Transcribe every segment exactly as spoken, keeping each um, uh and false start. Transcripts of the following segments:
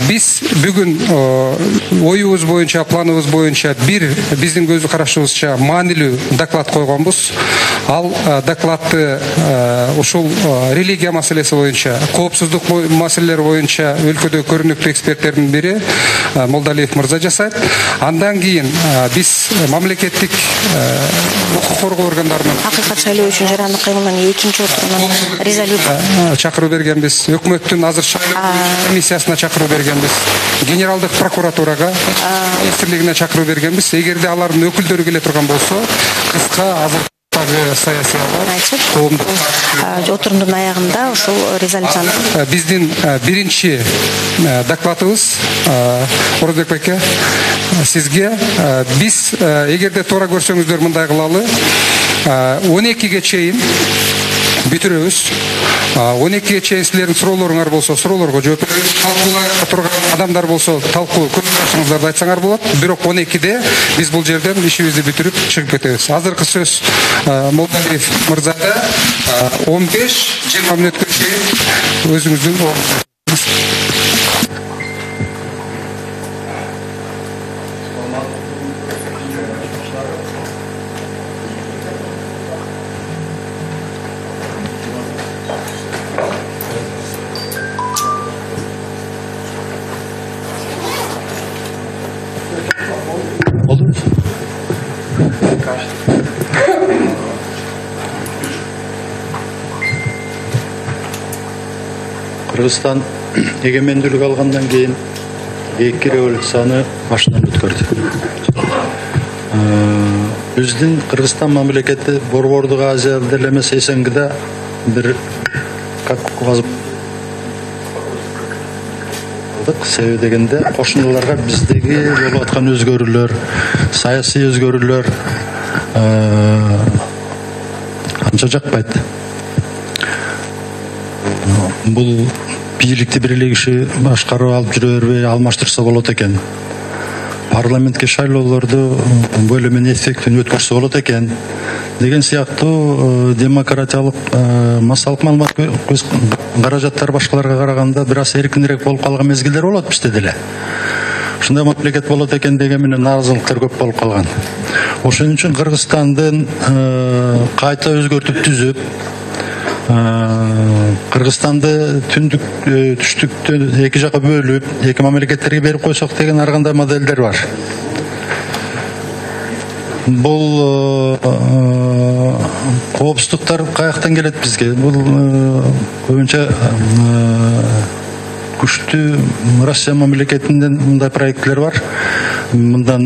Биз бүгүн оюбуз боюнча, планыбыз боюнча бир биздин көз карашыбызча маанилүү доклад койгонбуз. Ал докладты ушул религия маселеси боюнча, коопсуздук маселелери боюнча өлкөдө көрүнүктүү эксперттердин бири Молдалиев мырза жасайт. Андан кийин биз мамлекеттик укук коргоо органдарынын акыйкат шайлоо үчүн жарандык кыймылынын экинчи отурунан резолюция чакыруу бергенбиз. Өкмөттүн азыр шайлоо комиссиясына чакыруу бергенбиз. Генералдык прокуратурага, министрлигине чакыруу бергенбиз. Эгерде алардын өкүлдөрү келе турган болсо, кыска азыр саясий айтып, отурундун аягында ушул резолюцияны биздин биринчи докладыбыз Орозбек байке сизге биз эгерде туура көрсөңүздөр мындай кылалы, он экиге чейин бүтүрөбүз. он экиге чейин силердин суроолоруңар болсо, суроолорго жооп беребиз. Талкуулай турган адамдар болсо, талкуу көз карашыңыздарды айтсаңар болот. Бирок он экиде биз бул жерден ишибизди бүтүрүп чыгып кетебиз. Азыркы сөз Молдалиев мырзада он беш жыйырма мүнөткө чейин өзүңүздүн ордуңузда. Кыргызстан эгемендүүлүк алгандан кийин эки революцияны башынан өткөрдү. Биздин Кыргызстан мамлекети Борбордук Азия деле эмес СНГда бир как себеби дегенде кошуналарга биздеги болуп аткан өзгөрүүлөр, саясий өзгөрүүлөр анча жакпайт. Бул бийликти бир эле киши башкарып алып жүрө бербей алмаштырса болот экен. Парламентке шайлоолорду бөлү менен эффектин өткөрсө болот экен деген сыяктуу демократиялык массалык маалымат каражаттар башкаларга караганда бир аз эркинирээк болуп калган мезгилдер болот бизде деле. Ушундай мамлекет болот экен деген менен нааразылыктар көп болуп калган. Ошон үчүн Кыргызстандын кайта өзгөртүп түзүп, Кыргызстанды түндүк түштүктөн эки жака бөлүп, эки мамлекеттерге берип койсок деген ар кандай моделдер бар. Бул коопсуздуктар каяктан келет бизге? Бул көбүнчө күчтүү Россия мамлекетинен мындай проекттер бар. Мындан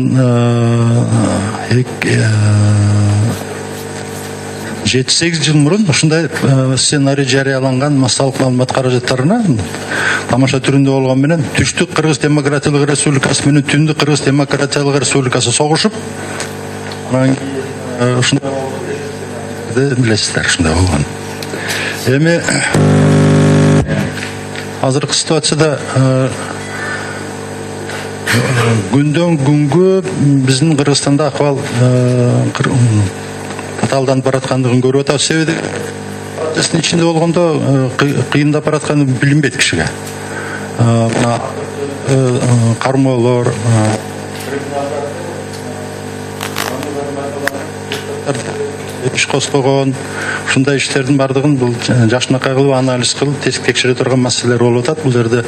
жети сегиз жыл мурун ушундай сценарий жарыяланган массалык маалымат каражаттарына тамаша түрүндө болгон менен түштүк Кыргыз Демократиялык Республикасы менен түндүк Кыргыз Демократиялык Республикасы согушуп, ушундай билесиздер, ушундай болгон. Эми азыркы ситуацияда күндөн күнгө биздин Кыргызстанда акыбал татаалданып бараткандыгын көрүп атабыз. Себеби процесстин ичинде болгондо кыйындап баратканы билинбейт кишиге. Кармоолор, иш козгогон, ушундай иштердин бардыгын бул жакшынакай кылып анализ кылып текшере турган маселелер болуп атат. Бул жерде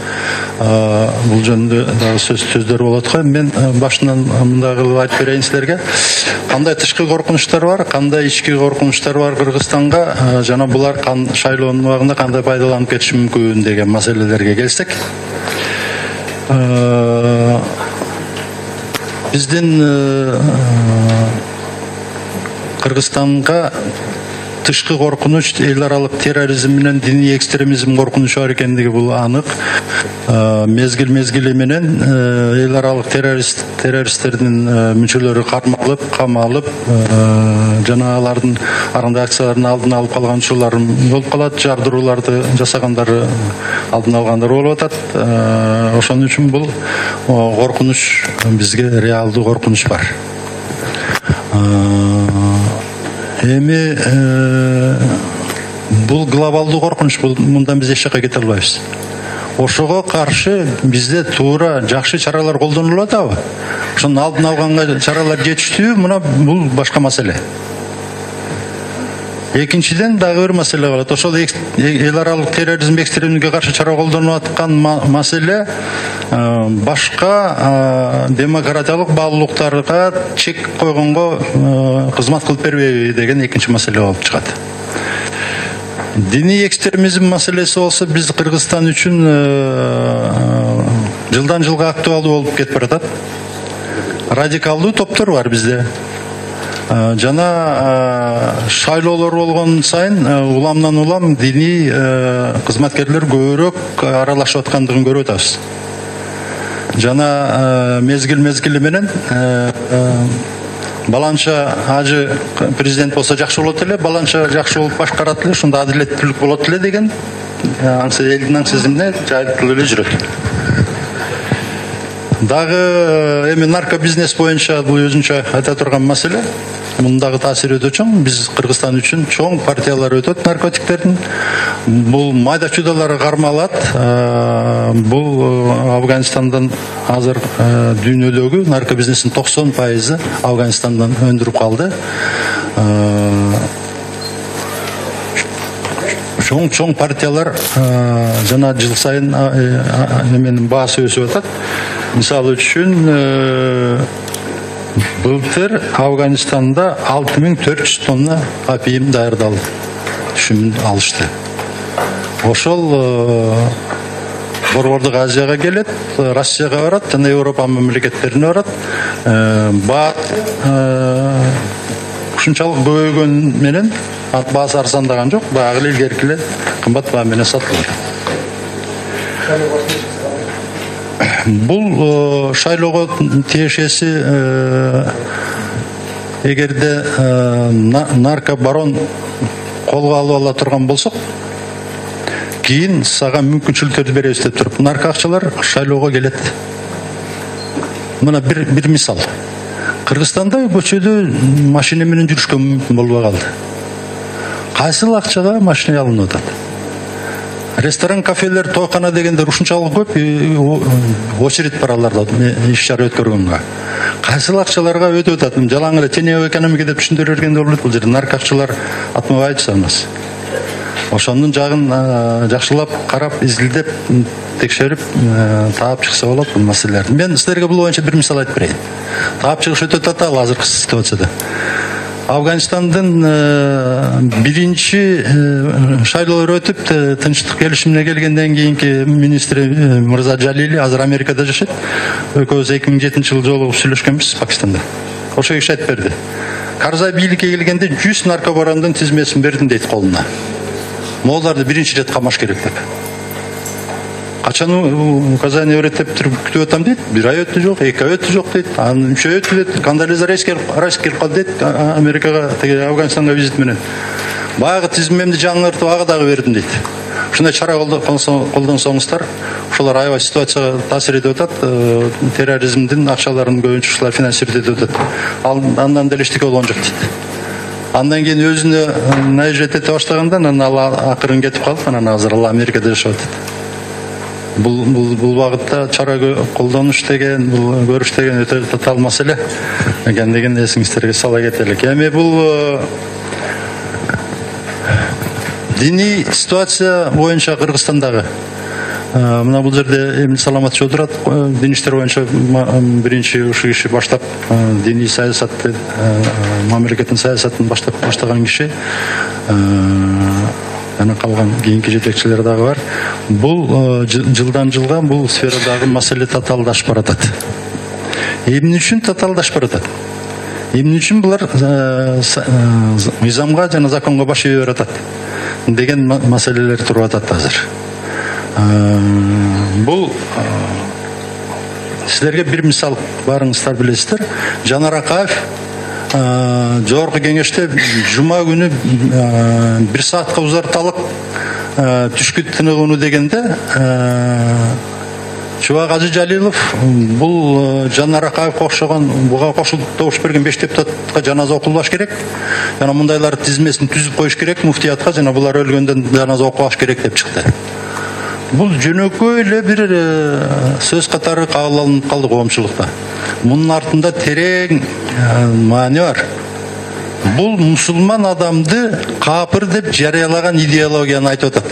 бул жөнүндө дагы сөз сөздөр болот го. Мен башынан мындай кылып айтып берейин силерге. Кандай тышкы коркунучтар бар, кандай ички коркунучтар бар Кыргызстанга, жана булар шайлоонун убагында кандай пайдаланып кетиши мүмкүн деген маселелерге келсек. Биздин Кыргызстанга тышкы коркунуч эл аралык терроризм менен диний экстремизм коркунучу бар экендиги бул анык. Мезгил мезгили менен эл аралык террорист террористтердин мүчөлөрү кармалып, камалып, жана алардын аркандай акциялардын алдын алып калган учурлар болуп калат, жардырууларды жасагандары алдын алгандар болуп атат. Ошон үчүн бул коркунуч бизге реалдуу коркунуч бар. Эми бул глобалдуу коркунуч, бул мындан биз эч жакка кете албайбыз. ошого каршы бизде туура жакшы чаралар колдонулуп атабы? Ошонун алдын алганга чаралар жетиштүүбү? Мына бул башка маселе. Экинчиден дагы бир маселе бар. Ошол эл аралык терроризм, экстремизмге каршы чара колдонуп аткан маселе башка демократиялык баалуулуктарга чек койгонго кызмат кылып бербейби деген экинчи маселе болуп чыгат. Диний экстремизм маселеси болсо биз Кыргызстан үчүн жылдан жылга актуалдуу болуп кетип баратат. Радикалдуу топтор бар бизде. Жана шайлоолор болгон сайын уламдан улам диний кызматкерлер көбүрөөк аралашып аткандыгын көрүп атабыз. Жана мезгил мезгили менен баланча ажы президент болсо жакшы болот эле, баланча жакшы болуп башкарат эле, ушунда адилеттүүлүк болот эле деген элдин аң сезимине жайылтылып эле жүрөт. Дагы эми наркобизнес боюнча бул өзүнчө айта турган маселе. Мундагы таасири өтө чоң. Биз Кыргызстан үчүн чоң партиялар өтөт наркотиктердин. Бул майда чудалар кармалат. Бул Афганистандан азыр дүйнөдөгү наркобизнестин токсон пайызы Афганистандан өндүрүп калды. Чоң-чоң партиялар жана жыл сайын эменин баасы өсүп атат. Мисалы үчүн былтыр Афганистанда алты миң төрт жүз тонна опиум даярдалды. Түшүм алышты. Ошол Борбордук Азияга келет, Россияга барат, жана Европа мамлекеттерине барат. Баат ушунчалык көбөйгөн менен баасы арзандаган жок, баягы эле илгерки эле кымбат баа менен сатылат. Бул шайлоого тиешеси эгерде наркобарон колго алып ала турган болсок, кийин сага мүмкүнчүлүктөрдү беребиз деп туруп, нарко акчалар шайлоого келет. Мына бир бир мисал. Кыргызстанда көчөдө машина менен жүрүшкө мүмкүн болбой калды. Кайсыл акчага машина алынып атат? Ресторан, кафелер, тойкана дегендер ушунчалык көп очередь бар аларда иш чара өткөргөнгө. Кайсыл акчаларга өтүп атат? Жалаң эле теневой экономика деп түшүндүрүп бергенде болот. Бул жерде нарко акчалар атмабайчы санас. Ошонун жагын жакшылап карап, изилдеп, текшерип таап чыкса болот бул маселелерди. Мен силерге бул боюнча бир мисал айтып берейин. Таап чыгыш өтө татаал азыркы ситуацияда. Афганистандын биринчи шайлоолор өтүп, тынчтык келишимине келгенден кийинки министри Мырза Жалили азыр Америкада жашайт. Экөөбүз эки миң жетинчи жылы жолугуп сүйлөшкөнбүз Пакистанда. Ошол киши айтып берди. Карзай бийликке келгенде жүз наркобарондун тизмесин бердим дейт колуна. Молдарды биринчи ирет камаш керек деп. Качан указание берет деп күтүп атам дейт. Бир ай өттү жок, эки ай өттү жок дейт. Анан үч ай өттү дейт. Кондолиза рейс келип калды дейт Америкага, Афганистанга визит менен. Баягы тизмемди жаңыртып ага дагы бердим дейт. Ушундай чара колдонсоңуздар, ошолор аябай ситуацияга таасир этип атат. Терроризмдин акчаларын көбүнчө ушулар финансировать этип атат. Андан деле эчтеке болгон жок дейт. Андан кийин өзүнө наезжать эте баштаганда анан ал акырын кетип калып, анан азыр ал Америкада жашап атат. Бул бул бул багытта чара колдонуш деген, бул көрүш деген өтө татаал маселе экендигин эсиңиздерге сала кетелик. Эми бул диний ситуация боюнча Кыргызстандагы мына бул жерде Эмил Саламатович отурат, дин иштер боюнча биринчи ушу киши баштап диний саясатты, мамлекеттин саясатын баштап баштаган киши. Жана калган кийинки жетекчилер дагы бар. Бул жылдан жылга бул сферадагы маселе татаалдашып баратат. Эмне үчүн татаалдашып баратат? Эмне үчүн булар мыйзамга жана законго баш ийе баратат деген маселелер туруп атат азыр. Бул силерге бир мисал барыңыздар билесиздер. Жанар Акаев жогорку кеңеште жума күнү бир саатка узарталык түшкү тыныгууну дегенде Чубак Ажы Жалилов бул Жанар Акаевге окшогон буга кошулуп добуш берген беш депутатка жаназа окулбаш керек. Жана мындайлар тизмесин түзүп коюш керек муфтиятка, жана булар өлгөндөн жаназа окубаш керек деп чыкты. бул жөнөкөй эле бир сөз катары кабыл алынып калды коомчулукта. Мунун артында терең маани бар. Бул мусулман адамды капыр деп жарыялаган идеологияны айтып атат.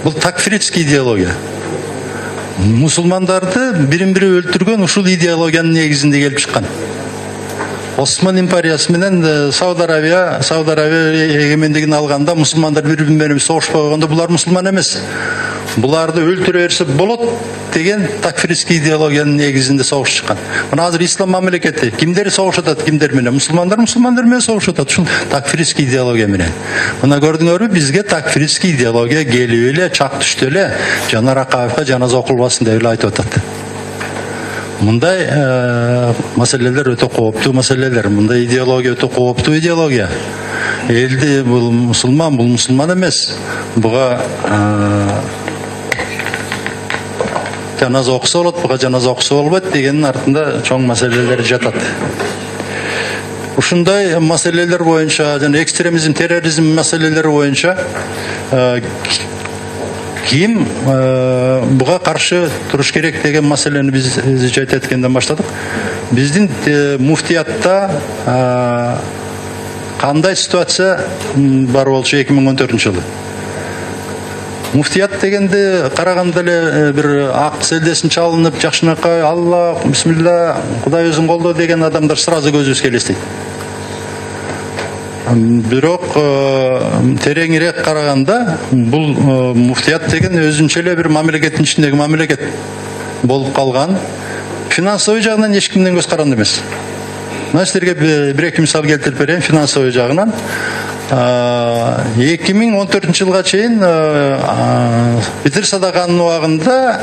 Бул такфирский идеология. Мусулмандарды бирин-бири өлтүргөн ушул идеологиянын негизинде келип чыккан. Осман империясы менен Сауд Арабия, Сауд Арабия эгемендигин алганда мусулмандар бири-бири менен согушпай койгондо булар мусулман эмес. Буларды өлтүрө берсе болот деген такфирский идеологиянын негизинде согуш чыккан. Мына азыр ислам мамлекети кимдер согушуп атат, кимдер менен? Мусулмандар мусулмандар менен согушуп атат. Ушул такфирский идеология менен. Мына көрдүңөрбү, бизге такфирский идеология келип эле, чак түштү эле, Жанар Акаевка жаназа окулбасын деп эле айтып атат. Мындай маселелер өтө кооптуу маселелер. Мындай идеология өтө кооптуу идеология. Элди бул мусулман, бул мусулман эмес. Буга жаназа окуса болот, буга жаназа окуса болбойт дегенин артында чоң маселелер жатат. Ушундай маселелер боюнча жана экстремизм, терроризм маселелери боюнча ким буга каршы туруш керек деген маселени биз жайт эткенден баштадык. Биздин муфтиятта кандай ситуация бар болчу эки миң он төртүнчү жылы? Муфтият дегенде караганда эле бир ак селдесин чалынып, жакшынакай Алла, бисмилла, Кудай өзүң колдо деген адамдар сразу көзүбүзгө элестейт. Бирок тереңирээк караганда бул муфтият деген өзүнчө эле бир мамлекеттин ичиндеги мамлекет болуп калган. Финансовый жагынан эч кимден көз каранды эмес. Мына силерге бир-эки мисал келтирип берейин финансовый жагынан. эки миң он төртүнчү жылга чейин Битир садаканын убагында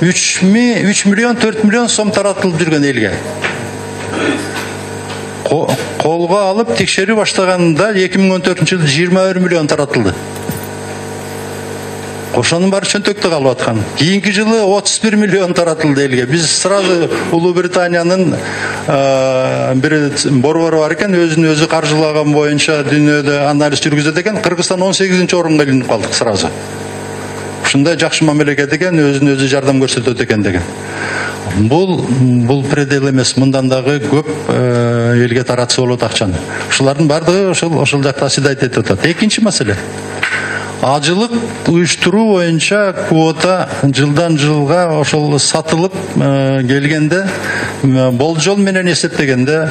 үч миллион төрт миллион сом таратылып жүргөн элге. Колго алып текшерүү баштаганда эки миң он төртүнчү жылы жыйырма бир миллион таратылды. Ошонун баары чөнтөктө калып аткан. Кийинки жылы отуз бир миллион таратылды элге. Биз сразу Улуу Британиянын бир борбору бар экен, өзүн өзү каржылаган боюнча дүйнөдө анализ жүргүзөт экен. Кыргызстан он сегизинчи орунга илинип калдык сразу. Ушундай жакшы мамлекет экен, өзүн өзү жардам көрсөтөт экен деген. Бул бул предел эмес, мындан дагы көп элге таратса болот акчаны. Ушулардын баардыгы ошол ошол жакта сидайт этип атат. Экинчи маселе. Ажылык уюштуруу боюнча квота жылдан жылга ошол сатылып келгенде болжол менен эсептегенде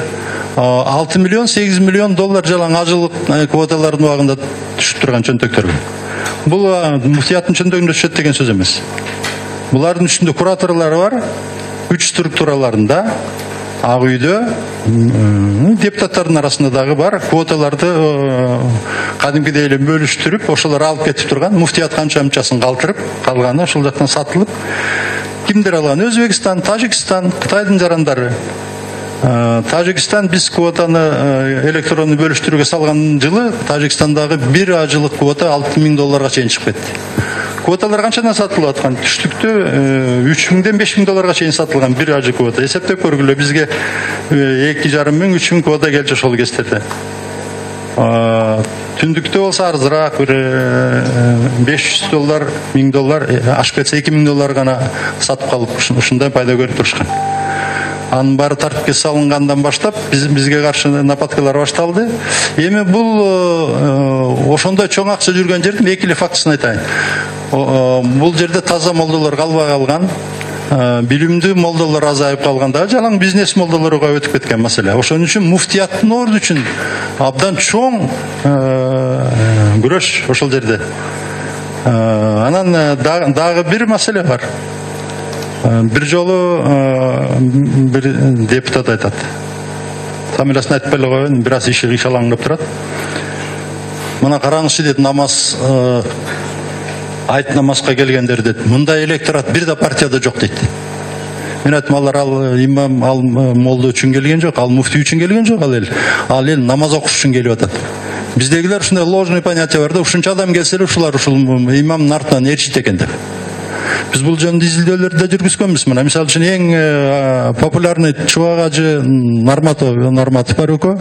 алты миллион сегиз миллион доллар жалаң ажылык квоталардын убагында түшүп турган чөнтөктөр. Бул муфтияттын чөнтөгүндө түшөт деген сөз эмес. Булардын ичинде кураторлор бар, үч структураларында, Ак үйдө, депутаттардын арасында дагы бар, квоталарды кадимкидей эле бөлүштүрүп, ошолор алып кетип турган, муфтият канча мынчасын калтырып, калганы ошол жактан сатылып, кимдер алган? Өзбекстан, Тажикстан, Кытайдын жарандары. Тажикстан биз квотаны электронду бөлүштүрүүгө салган жылы Тажикстандагы бир ажылык квота алты миң долларга чейин чыгып кетти. Квоталар канчадан сатылып аткан? Түштүктө үч миңден беш миң долларга чейин сатылган бир ажы квота. Эсептеп көргүлө, бизге эки жарым миң үч миң квота келчү ошол кездерде. Түндүктө болсо арзыраак, бир беш жүз доллар, миң доллар, ашып кетсе эки миң доллар гана сатып калып, ушундай пайда көрүп турушкан. Анын баары тартипке салынгандан баштап биз бизге каршы нападкалар башталды. Эми бул ошондой чоң акча жүргөн жердин эки эле фактысын айтайын. Бул жерде таза молдолор калбай калган, билимдүү молдолор азайып калганда, жалаң бизнес молдолорго өтүп кеткен маселе. Ошон үчүн муфтияттын орду үчүн абдан чоң күрөш ошол жерде. Анан дагы бир маселе бар. Бир жолу бир депутат айтат. Фамилиясын айтпай эле коеюн, бир аз иши кыйшалаңдап турат. Мына караңызчы дейт, намаз айт намазга келгендер дейт. Мындай электорат бир да партияда жок дейт. Мен айттым, алар ал имам, ал молдо үчүн келген жок, ал муфти үчүн келген жок, ал эл. Ал эл намаз окуш үчүн келип атат. Биздегилер ушундай ложный понятие бар да, ушунча адам келсе эле ушулар ушул имамдын артынан ээрчийт экен деп. Биз бул жөнүндө изилдөөлөрдү да жүргүзгөнбүз. Мына мисалы үчүн эң популярный Чубак ажы Нарматов, Нарматов бар экөө.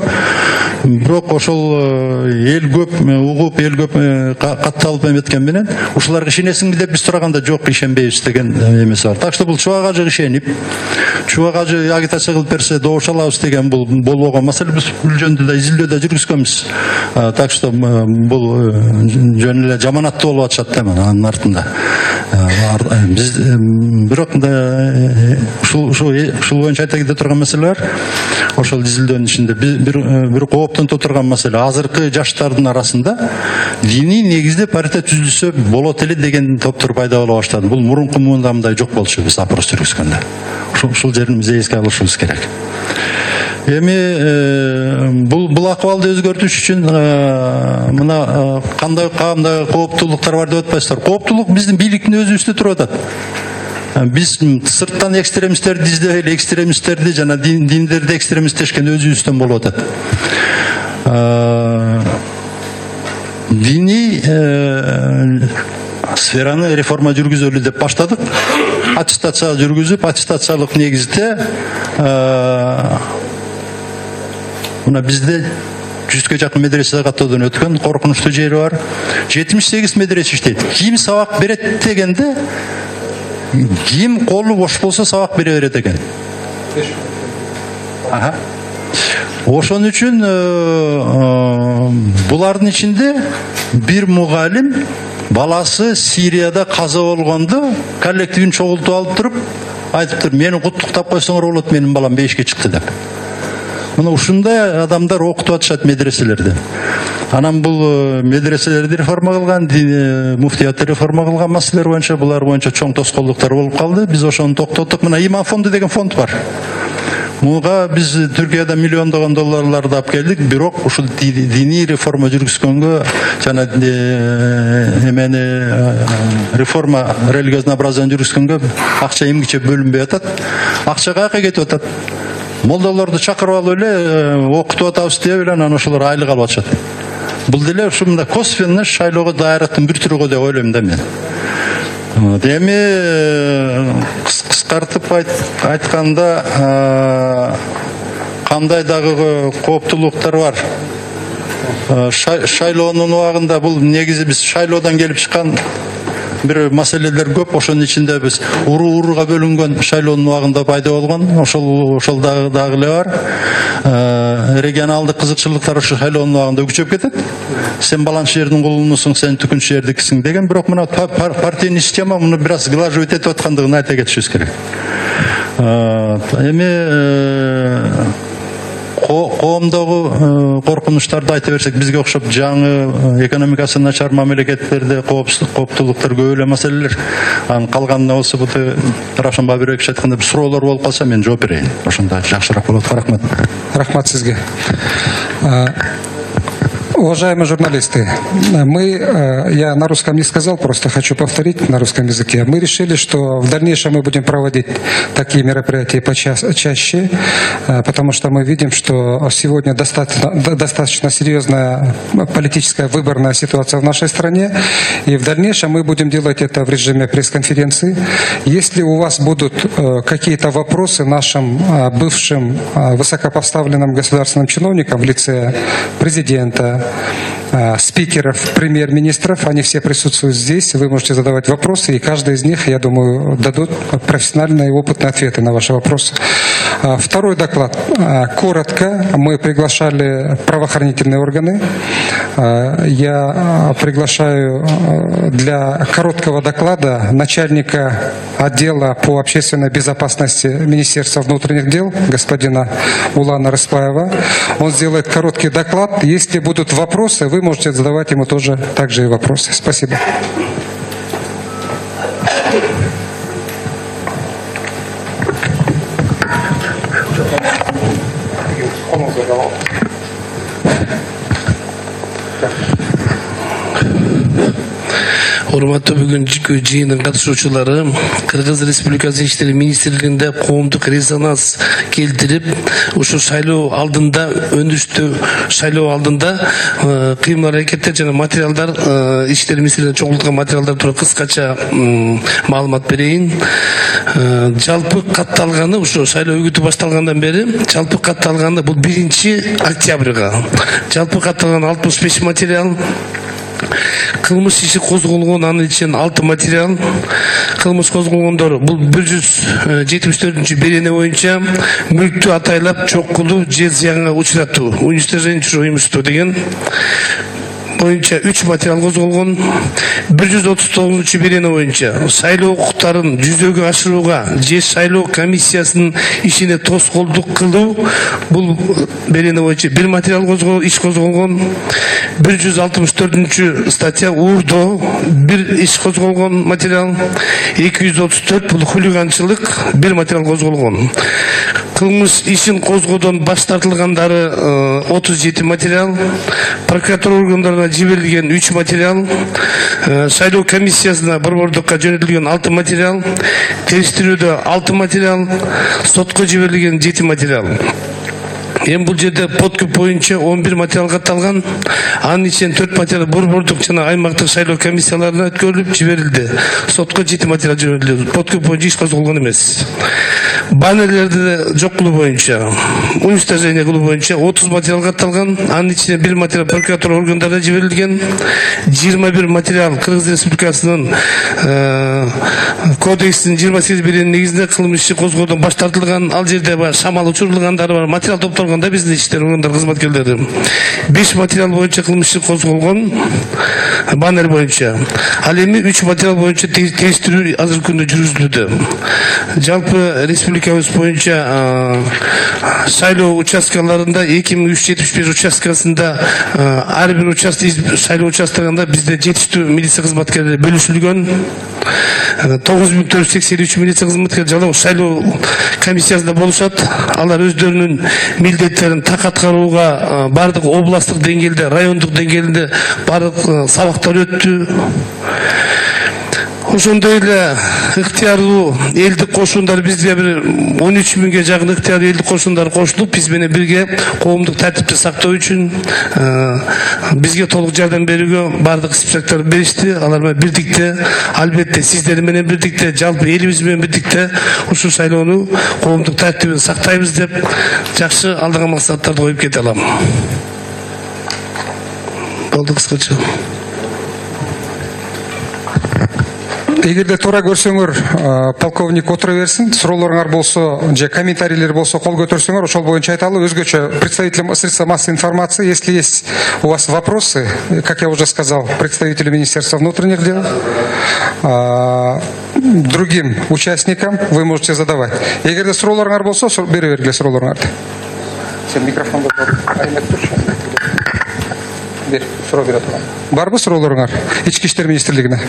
бирок ошол эл көп угуп, эл көп катталып эметкен менен ушуларга ишенесиңби деп биз сураганда жок, ишенбейбиз деген эмеси бар. Так что бул чубак ажы ишенип, чубак ажы агитация кылып берсе добуш алабыз деген бул болбогон маселе. Биз бул жөнүндө да изилдөө да жүргүзгөнбүз. Так что бул жөн эле жаманаттуу болуп атышат да анын артында. Биз бирок ушул ушул боюнча айта кете турган маселе бар. Ошол изилдөөнүн ичинде бир бир кооптонто турган маселе азыркы жаштардын арасында диний негизде партия түзүлсө болот эле деген топтор пайда боло баштады. Бул мурунку мында мындай жок болчу биз опрос жүргүзгөндө. Ушул жерин биз эске алышыбыз керек. Эми бул бул акыбалды өзгөртүш үчүн мына кандай кандай кооптуулуктар бар деп атпайсыздар. Кооптуулук биздин бийликтин өзүбүздө туруп атат. Биз сырттан экстремисттерди издебей эле экстремисттерди жана диндерди экстремисттешкен өзүбүздөн болуп атат. Диний сфераны реформа жүргүзөлү деп баштадык. Аттестация жүргүзүп, аттестациялык негизде мына бизде жүзгө жакын медресе каттоодон өткөн, коркунучтуу жери бар. жетимиш сегиз медресе иштейт. Ким сабак берет дегенде, ким колу бош болсо сабак бере берет экен. Аха. Ошон үчүн булардын ичинде бир мугалим баласы Сирияда каза болгондо коллективин чогултуп алып туруп айтыптыр: "Мени куттуктап койсоңор болот, менин балам бейишке чыкты" деп. Мына ушундай адамдар окутуп атышат медреселерде. Анан бул медреселерди реформа кылган, муфтиятты реформа кылган маселелер боюнча, булар боюнча чоң тоскоолдуктар болуп калды. Биз ошону токтоттук. Мына Иман фонду деген фонд бар. Муга биз Түркияда миллиондогон долларларды алып келдик, бирок ушул диний реформа жүргүзгөнгө жана эмени реформа религиознообразиянын жүргүзгөнгө акча эмгиче бөлүнбөй атат. Акча каяка кетип атат? Молдаларды чакырып алып эле окутуп атабыз деп эле анан ошолор айлык алып атышат. Бул деле ушундай косвенно шайлоого даярдыктын бир түрү деп ойлойм да мен. Эми кыскартып айтканда кандай дагы кооптуулуктар бар? Шайлоонун убагында бул негизи биз шайлоодон келип чыккан бир маселелер көп. Ошонун ичинде биз уруу-урууга бөлүнгөн шайлоонун убагында пайда болгон. Ошол ошол дагы дагы эле бар. Регионалдык кызыкчылыктар ошо шайлоонун убагында күчөп кетет. Сен баланчы жердин кулунусуң, сен түкүнчү жердикисиң деген. Бирок мына партийный система муну бир аз глаживать этип аткандыгын айта кетишибиз керек. Эми коомдогу коркунучтарды айта берсек, бизге окшоп жаңы экономикасы начар мамлекеттерде кооптуулуктар көп эле маселелер. Анын калганына болсо бут Равшан Бабирович айткандай бир суроолор болуп калса мен жооп берейин. Ошондо жакшыраак болот. Рахмат. Рахмат сизге. Уважаемые журналисты, мы, я на русском не сказал, просто хочу повторить на русском языке. Мы решили, что в дальнейшем мы будем проводить такие мероприятия почаще, потому что мы видим, что сегодня достаточно, достаточно серьезная политическая выборная ситуация в нашей стране, и в дальнейшем мы будем делать это в режиме пресс-конференции. Если у вас будут какие-то вопросы нашим бывшим высокопоставленным государственным чиновникам в лице президента, спикеров, премьер-министров, они все присутствуют здесь, вы можете задавать вопросы, и каждый из них, я думаю, дадут профессиональные и опытные ответы на ваши вопросы. Второй доклад. Коротко, мы приглашали правоохранительные органы. Я приглашаю для короткого доклада начальника отдела по общественной безопасности Министерства внутренних дел, господина Улана Рыспаева. Он сделает короткий доклад. Если будут вопросы, вы можете задавать ему тоже также и вопросы. Спасибо. Урматтуу бүгүнкү жыйындын катышуучулары, Кыргыз Республикасы Иштери министрлигинде коомдук резонанс келтирип, ушу шайлоо алдында, өндүштүү шайлоо алдында кыймыл аракеттер жана материалдар, Иштери министрлигинде чогулткан материалдар тууралуу кыскача маалымат берейин. жалпы катталганы ушу шайлоо үгүтү башталгандан бери жалпы катталганы бул биринчи октябрга жалпы катталган алтымыш беш материал, кылмыш иши козголгон, анын ичинен алты материал. Кылмыш козголгондор бул бир жүз жетимиш төртүнчү берене боюнча мүлктү атайлап чокулуу же зыянга учуратуу, уничтожение уюмуштоо деген боюнча үч материал козголгон. бир жүз отуз тогузунчу берене боюнча шайлоо укуктарын жүзөгө ашырууга же шайлоо комиссиясынын ишине тоскоолдук кылуу, бул берене боюнча бир материал козголгон, иш козголгон. бир жүз алтымыш төртүнчү статья уурдоо, бир иш козголгон материал. эки жүз отуз төрт бул хулиганчылык, бир материал козголгон. Кылмыш ишин козгоодон баш тартылгандары отуз жети материал, прокуратура органдарына жиберилген үч материал, шайлоо комиссиясына борбордукка жөнөтүлгөн алты материал, териштирүүдө алты материал, сотко жиберилген жети материал. Эми бул жерде подкүп боюнча он бир материал катталган. Анын ичинен төрт материал борбордук жана аймактык шайлоо комиссияларына өткөрүлүп жиберилди. Сотко жети материал жиберилди. Подкүп боюнча иш козголгон эмес. Баннерлерди жок кылуу боюнча, уничтожение кылуу боюнча отуз материал катталган. Анын ичинен бир материал прокуратура органдарына жиберилген. жыйырма бир материал Кыргыз Республикасынын кодексинин жыйырма сегиз беренин негизинде кылмыш иши козгоодон баш тартылган. Ал жерде бар шамал учурулгандары бар. Материал топтолгон да биздин иштер органдар кызматкерлери. беш материал боюнча кылмыш иши козголгон баннер боюнча. Ал эми үч материал боюнча териштирүү азыркы күндө жүргүзүлүүдө. Жалпы республикабыз боюнча шайлоо участкаларында эки миң үч жүз жетимиш беш участкасында ар бир участок шайлоо участкаларында бизде жетиштүү милиция кызматкерлери бөлүшүлгөн. тогуз миң төрт жүз сексен үч милиция кызматкери жалаң шайлоо комиссиясында болушат. Алар өздөрүнүн милдеттерин так аткарууга бардык областтык деңгээлде, райондук деңгээлде бардык сабактар өттү. Ошондой эле ыктыярдуу элдик кошундар бизге бир он үч миңге жакын ыктыярдуу элдик кошундар кошулуп, биз менен бирге коомдук тартипти сактоо үчүн бизге толук жардам берүүгө бардык спектр беришти. Алар менен бирдикте, албетте сиздер менен бирдикте, жалпы элибиз менен бирдикте ушул шайлоону коомдук тартибин сактайбыз деп жакшы алдыга максаттарды коюп кете алам. Болду кыскача. Эгерде туура көрсөңөр, полковник отура берсин, суроолоруңар болсо же комментарийлер болсо кол көтөрсөңөр, ошол боюнча айталы. Өзгөчө представителям средств массовой информации, если есть у вас вопросы, как я уже сказал, представителю Министерства внутренних дел, другим участникам вы можете задавать. Эгерде суроолоруңар болсо, бере бергиле суроолоруңарды. Сен микрофонду бер, суроо бере турган. Барбы суроолоруңар Ички иштер министрлигине?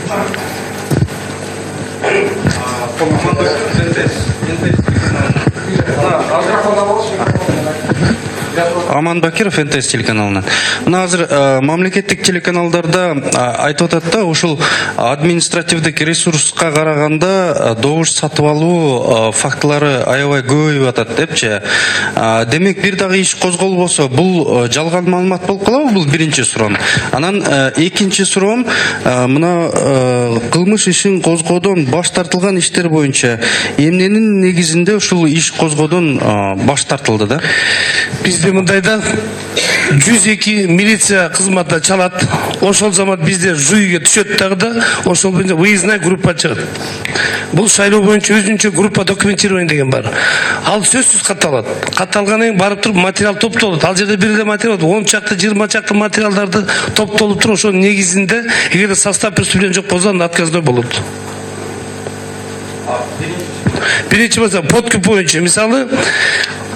Аман Бакиров, эн тэ эс телеканалынан. Мына азыр мамлекеттик телеканалдарда айтып атат да, ушул административдик ресурска караганда добуш сатып алуу фактылары аябай көбөйүп атат депчи. Демек бир дагы иш козголбосо бул жалган маалымат болуп калабы? Бул биринчи суроом. Анан экинчи суроом, мына кылмыш ишин козгоодон баш тартылган иштер боюнча эмненин негизинде ушул иш козгоодон баш тартылды да? Бизде мындайда жүз эки милиция кызматына чалат. Ошол замат бизде жүйгө түшөт дагы да, ошол боюнча выездная группа чыгат. Бул шайлоо боюнча өзүнчө группа документирование деген бар. Ал сөзсүз катталат. Катталгандан кийин барып туруп материал топтолот. Ал жерде бир эле материал, он чакты, жыйырма чакты материалдарды топтолуп туруп, ошонун негизинде эгерде состав преступления жок болсо, анда отказной болот. Биринчи болсо подкуп боюнча, мисалы,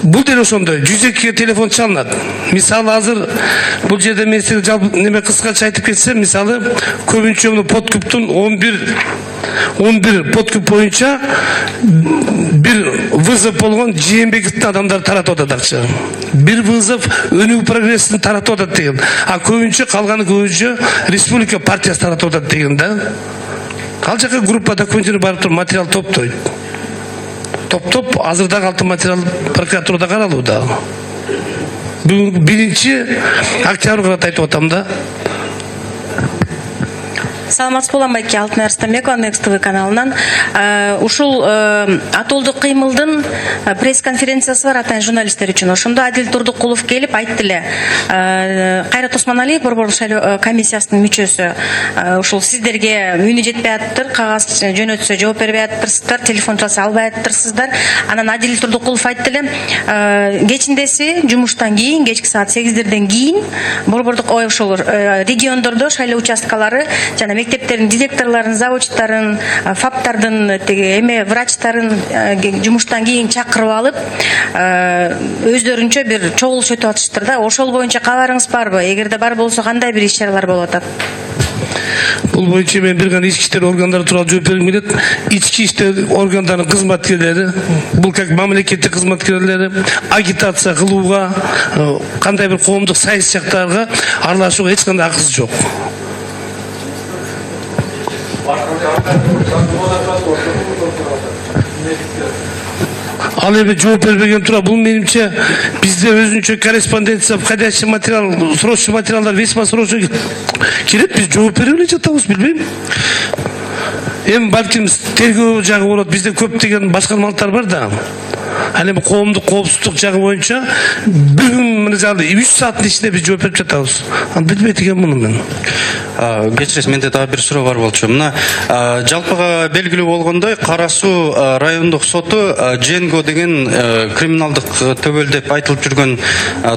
бул деле ошондой жүз экиге телефон чалынат. Мисалы азыр бул жерде мен сиз жалпы неме кыскача айтып кетсем, мисалы көбүнчө муну подкуптун он бир подкуп боюнча бир вызов болгон Жээнбековдун адамдары таратып атат акча. Бир вызов Өнүгүү прогресстин таратып атат деген. А көбүнчө калганы көбүнчө республика партиясы таратып атат деген да. Ал жака группа документтерин барып туруп материал топтойт. Топ-топ азырдагы алты материал прокуратурада каралууда. Биринчи октябрга айтып атам да. Саламатсызбы Уланбайке, Алтынай Арыстанбекова, Next ти ви каналынан. Ушул атолдук кыймылдын пресс-конференциясы бар атайын журналисттер үчүн. Ошондо Адил Турдукулов келип айтты эле. Кайрат Осмоналиев борборлук шайлоо комиссиясынын мүчөсү. Ушул сиздерге үнү жетпей атыптыр, кагаз жөнөтсө жооп бербей атыптырсыздар, телефон чалса албай атыптырсыздар. Анан Адил Турдукулов айтты эле, кечиндеси жумуштан кийин, кечки саат сегиздерден кийин борбордук ой ошол региондордо шайлоо участкалары жана мектептердин директорлорун, заводчтарын, фаптардын теги эме врачтарын жумуштан кийин чакырып алып, өздөрүнчө бир чогулуш өтүп атыштыр да. Ошол боюнча кабарыңыз барбы? Эгерде бар болсо кандай бир иш-чаралар болуп атат? Бул боюнча мен бир гана ички иштер органдары тууралуу жооп бергим келет. Ички иштер органдарынын кызматкерлери, бул как мамлекеттик кызматкерлери агитация кылууга, кандай бир коомдук саясаттарга аралашууга эч кандай акысы жок. Ал эми жооп бербеген тура, бул менимче бизде өзүнчө корреспонденция, входящий материал, срочный материалдар весьма срочно келет, биз жооп берип эле жатабыз, билбейм. Эми балким тергөө жагы болот, бизде көптөгөн башкармалыктар бар да. Ал эми коомдук коопсуздук жагы боюнча бүгүн мына үч сааттын ичинде биз жооп берип жатабыз. Аны билбейт экенмин муну мен. Кечиресиз, менде дагы бир суроо бар болчу. Мына жалпыга белгилүү болгондой, Кара Суу райондук соту Дженго деген криминалдык төбөл деп айтылып жүргөн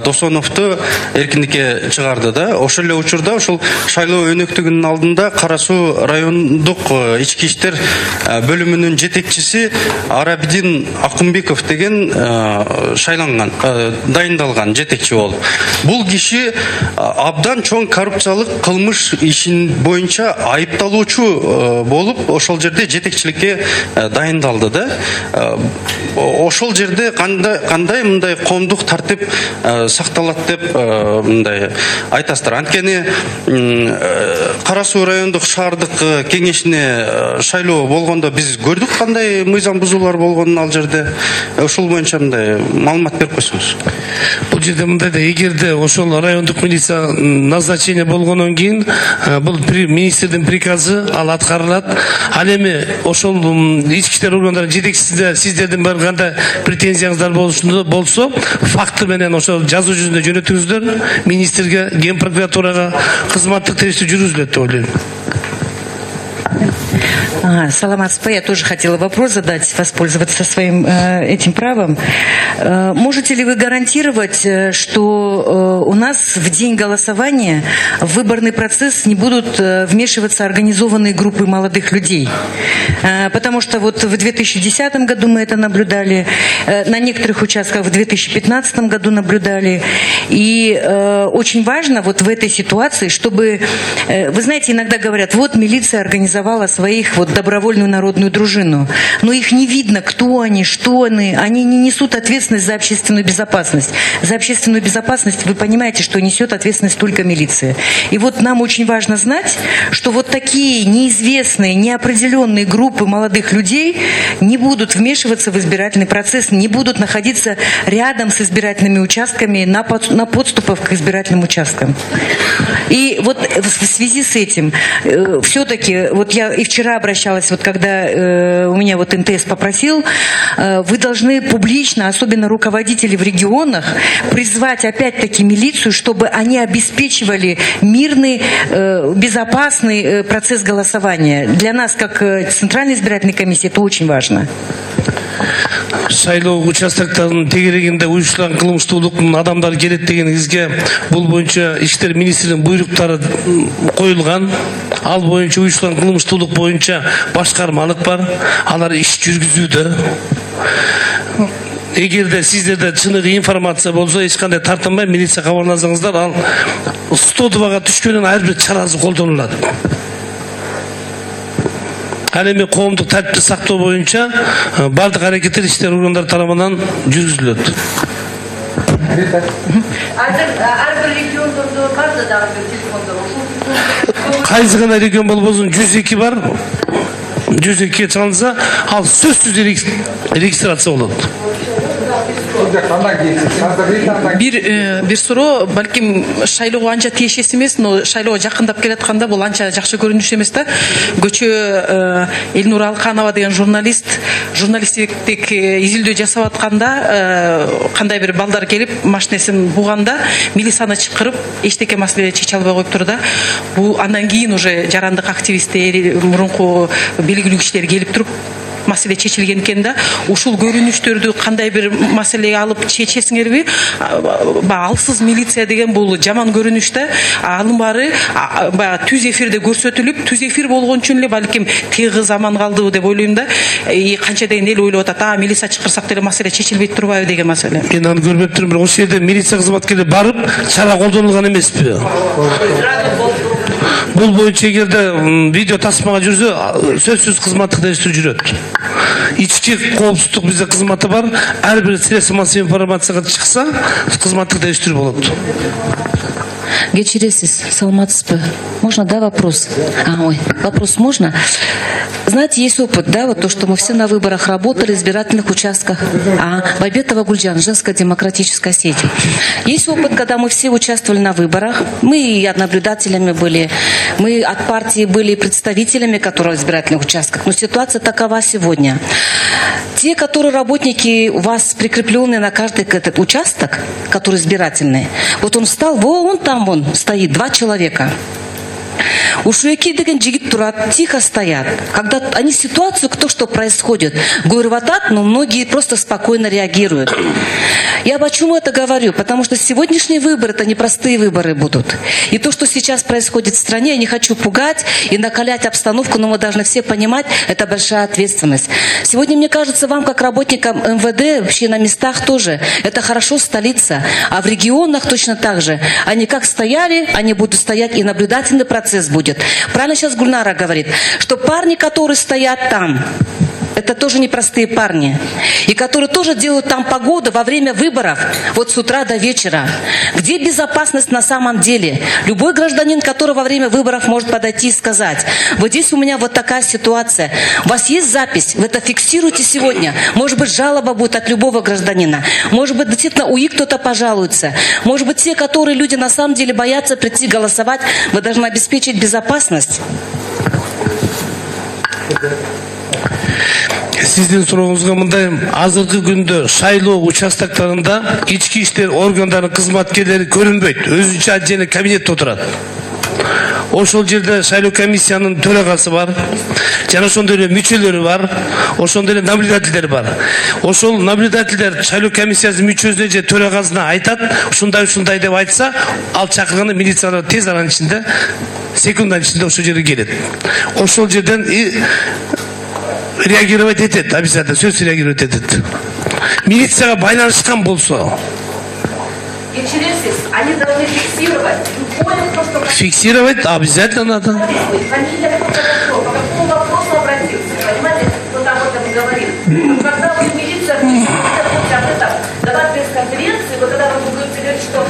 Досоновду эркиндикке чыгарды да. Ошол эле учурда ошол шайлоо өнөктүгүнүн алдында Кара Суу райондук ички иштер бөлүмүнүн жетекчиси Арабидин Акымбеков деген шайланган, дайындалган жетекчи болуп. Бул киши абдан чоң коррупциялык кылмыш ишин боюнча айыпталуучу болуп, ошол жерде жетекчиликке дайындалды да. Ошол жерде кандай кандай мындай коомдук тартип сакталат деп мындай айтасыздар. Анткени Кара Суу райондук шаардык кеңешине шайлоо болгондо биз көрдүк кандай мыйзам бузуулар болгонун ал жерде. Ошол боюнча мындай маалымат берип койсоңуз. Бул жерде мындай да, эгерде ошол райондук милиция назначение болгондон кийин бул министрдин приказы ал аткарылат. Ал эми ошол ички иштер органдарынын жетекчисине сиздердин бар кандай претензияңыздар болсо, факты менен ошол жазуу жүзүндө жөнөтүңүздөр министрге, ген прокуратурага кызматтык териштирүү жүргүзүлөт деп ойлойм. Ага, Саламатсызбы, я тоже хотела вопрос задать, воспользоваться своим э, этим правом. Э, можете ли вы гарантировать, что э, у нас в день голосования в выборный процесс не будут э, вмешиваться организованные группы молодых людей? Э, потому что вот в две тысячи десятом году мы это наблюдали, э, на некоторых участках в две тысячи пятнадцатом году наблюдали. И э, очень важно вот в этой ситуации, чтобы, э, вы знаете, иногда говорят, вот милиция организовала своих вот добровольную народную дружину. Но их не видно, кто они, что они. Они не несут ответственность за общественную безопасность. За общественную безопасность вы понимаете, что несет ответственность только милиция. И вот нам очень важно знать, что вот такие неизвестные, неопределенные группы молодых людей не будут вмешиваться в избирательный процесс, не будут находиться рядом с избирательными участками, на, под, на подступах к избирательным участкам. И вот в связи с этим, э, все-таки, вот я и вчера обращалась, вот когда э, у меня вот эн тэ эс попросил, э, вы должны публично, особенно руководители в регионах, призвать опять-таки милицию, чтобы они обеспечивали мирный, э, безопасный э, процесс голосования. Для нас, как э, Центральной избирательной комиссии, это очень важно. Шайлоо участоктарын тегерегинде уюштурулган кылмыштуулуктун адамдары келет дегениңизге бул боюнча иштер министринин буйруктары коюлган. Ал боюнча уюштурулган кылмыштуулук боюнча башкармалык бар. Алар иш жүргүзүүдө. Эгерде сиздерде чыныгы информация болсо, эч кандай тартынбай милиция кабарласаңыздар, ал стодубага түшкөндөн ар бир чарасы колдонулат. Ал эми коомдук тартипти сактоо боюнча бардык аракеттер иштер органдары тарабынан жүргүзүлөт. Азыр ар бир региондордо бар да дагы бир телефондор. Кайсы гана регион болбосун жүз эки бар. жүз экиге чалынса, ал сөзсүз регистрация болот. бир бир суроо балким шайлоого анча тиешеси эмес, но шайлоого жакындап келатканда бул анча жакшы көрүнүш эмес да. Көчө Элнур Алканова деген журналист журналисттик изилдөө жасап атканда кандай бир балдар келип машинесин буганда милицияны чакырып эчтеке маселе чече албай коюптур да. Бул андан кийин уже жарандык активисттер, мурунку белгилүү кишилер келип туруп маселе чечилген экен да. Ушул көрүнүштөрдү кандай бир маселеге алып чечесиңерби? Баягы алсыз милиция деген бул жаман көрүнүш да. Анын баары баягы түз эфирде көрсөтүлүп, түз эфир болгон үчүн эле балким тыйгы заман калды деп ойлойм да. И канча деген эл ойлоп атат, а милиция чакырсак деле маселе чечилбейт турбайбы деген маселе. Мен аны көрбөп турмун, бирок ошол жерде милиция кызматкерлери барып чара колдонулган эмеспи? Бул боюнча эгерде видео тасмага жүрсө, сөзсүз кызматтык дерештүү жүрөт. Ички коопсуздук бизде кызматы бар. Ар бир средства массовой информацияга чыкса, кызматтык дерештүү болот. Кечиресиз, саламатсызбы? Можно, да, вопрос? А, ой, вопрос можно? Знаете, есть опыт, да, вот то, что мы все на выборах работали, в избирательных участках. А, Байбетова Гульджан, женская демократическая сеть. Есть опыт, когда мы все участвовали на выборах. Мы и наблюдателями были, мы от партии были представителями, которые в избирательных участках. Но ситуация такова сегодня. Те, которые работники у вас прикрепленные на каждый этот участок, который избирательный, вот он встал, вон там вон стоит, два человека. Ушуеки деген жигит турат, тихо стоят. Когда они ситуацию, кто что происходит, говорю, вот так, но многие просто спокойно реагируют. Я почему это говорю? Потому что сегодняшние выборы, это непростые выборы будут. И то, что сейчас происходит в стране, я не хочу пугать и накалять обстановку, но мы должны все понимать, это большая ответственность. Сегодня, мне кажется, вам, как работникам эм вэ дэ, вообще на местах тоже, это хорошо столица. А в регионах точно так же. Они как стояли, они будут стоять, и наблюдательный процесс будет. Правильно сейчас Гульнара говорит, что парни, которые стоят там, это тоже непростые парни. И которые тоже делают там погоду во время выборов, вот с утра до вечера. Где безопасность на самом деле? Любой гражданин, который во время выборов может подойти и сказать, вот здесь у меня вот такая ситуация. У вас есть запись? Вы это фиксируйте сегодня. Может быть, жалоба будет от любого гражданина. Может быть, действительно, УИ кто-то пожалуется. Может быть, те, которые люди на самом деле боятся прийти голосовать, вы должны обеспечить безопасность. Сиздин сурооңузга мындай, азыркы күндө шайлоо участоктарында ички иштер органдарынын кызматкерлери көрүнбөйт, өзүнчө отдельный кабинетте отурат. Ошол жерде шайлоо комиссиянын төрагасы бар, жана ошондой эле мүчөлөрү бар, ошондой эле наблюдательдер бар. Ошол наблюдательдер шайлоо комиссиясынын мүчөсүнө же төрагасына айтат, ушундай ушундай деп айтса, ал чакырганда милициялар тез аранын ичинде, секунданын ичинде ошол жерге келет. Ошол жерден реагировать этет, обязательно сөз реагировать этет. Милицияга байланышкан болсо, они должны фиксировать. Фиксировать обязательно надо. Фамилия, по какому вопросу обратился, понимаете, кто там об этом говорит. Когда вы милиция об этом давать пресс-конференции, вы когда вы будете говорить, что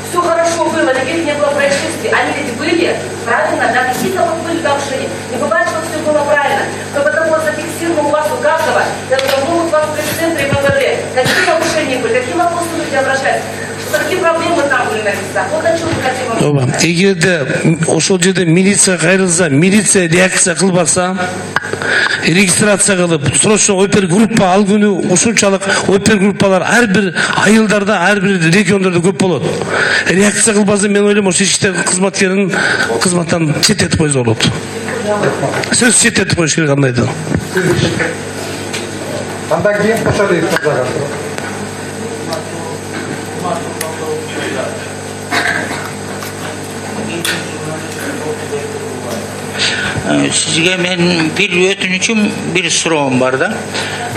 все хорошо было, никаких не было происшествий, они ведь были, правильно, да, какие-то вот были нарушения. Не бывает, что все было правильно. Но потому что зафиксировано у вас у каждого, это могут вас в пресс-центре эм вэ дэ. Какие нарушения были, какие вопросы люди обращаются. Какие проблемы там были на местах? Вот о чем мы хотим. Ооба, эгерде ошол жерде милиция кайрылса, милиция реакция кылбаса, регистрация кылып, срочно опергруппа ал күнү ушунчалык опергруппалар ар бир айылдарда, ар бир региондордо көп болот. Реакция кылбаса, мен ойлойм, ошол иштер кызматкерин кызматтан четтетип койсо болот. Сөз четтетип коюш керек андайды. Андан кийин Кошалиев мырзага. Сизге мен бир өтүнүчүм, бир суроом бар да.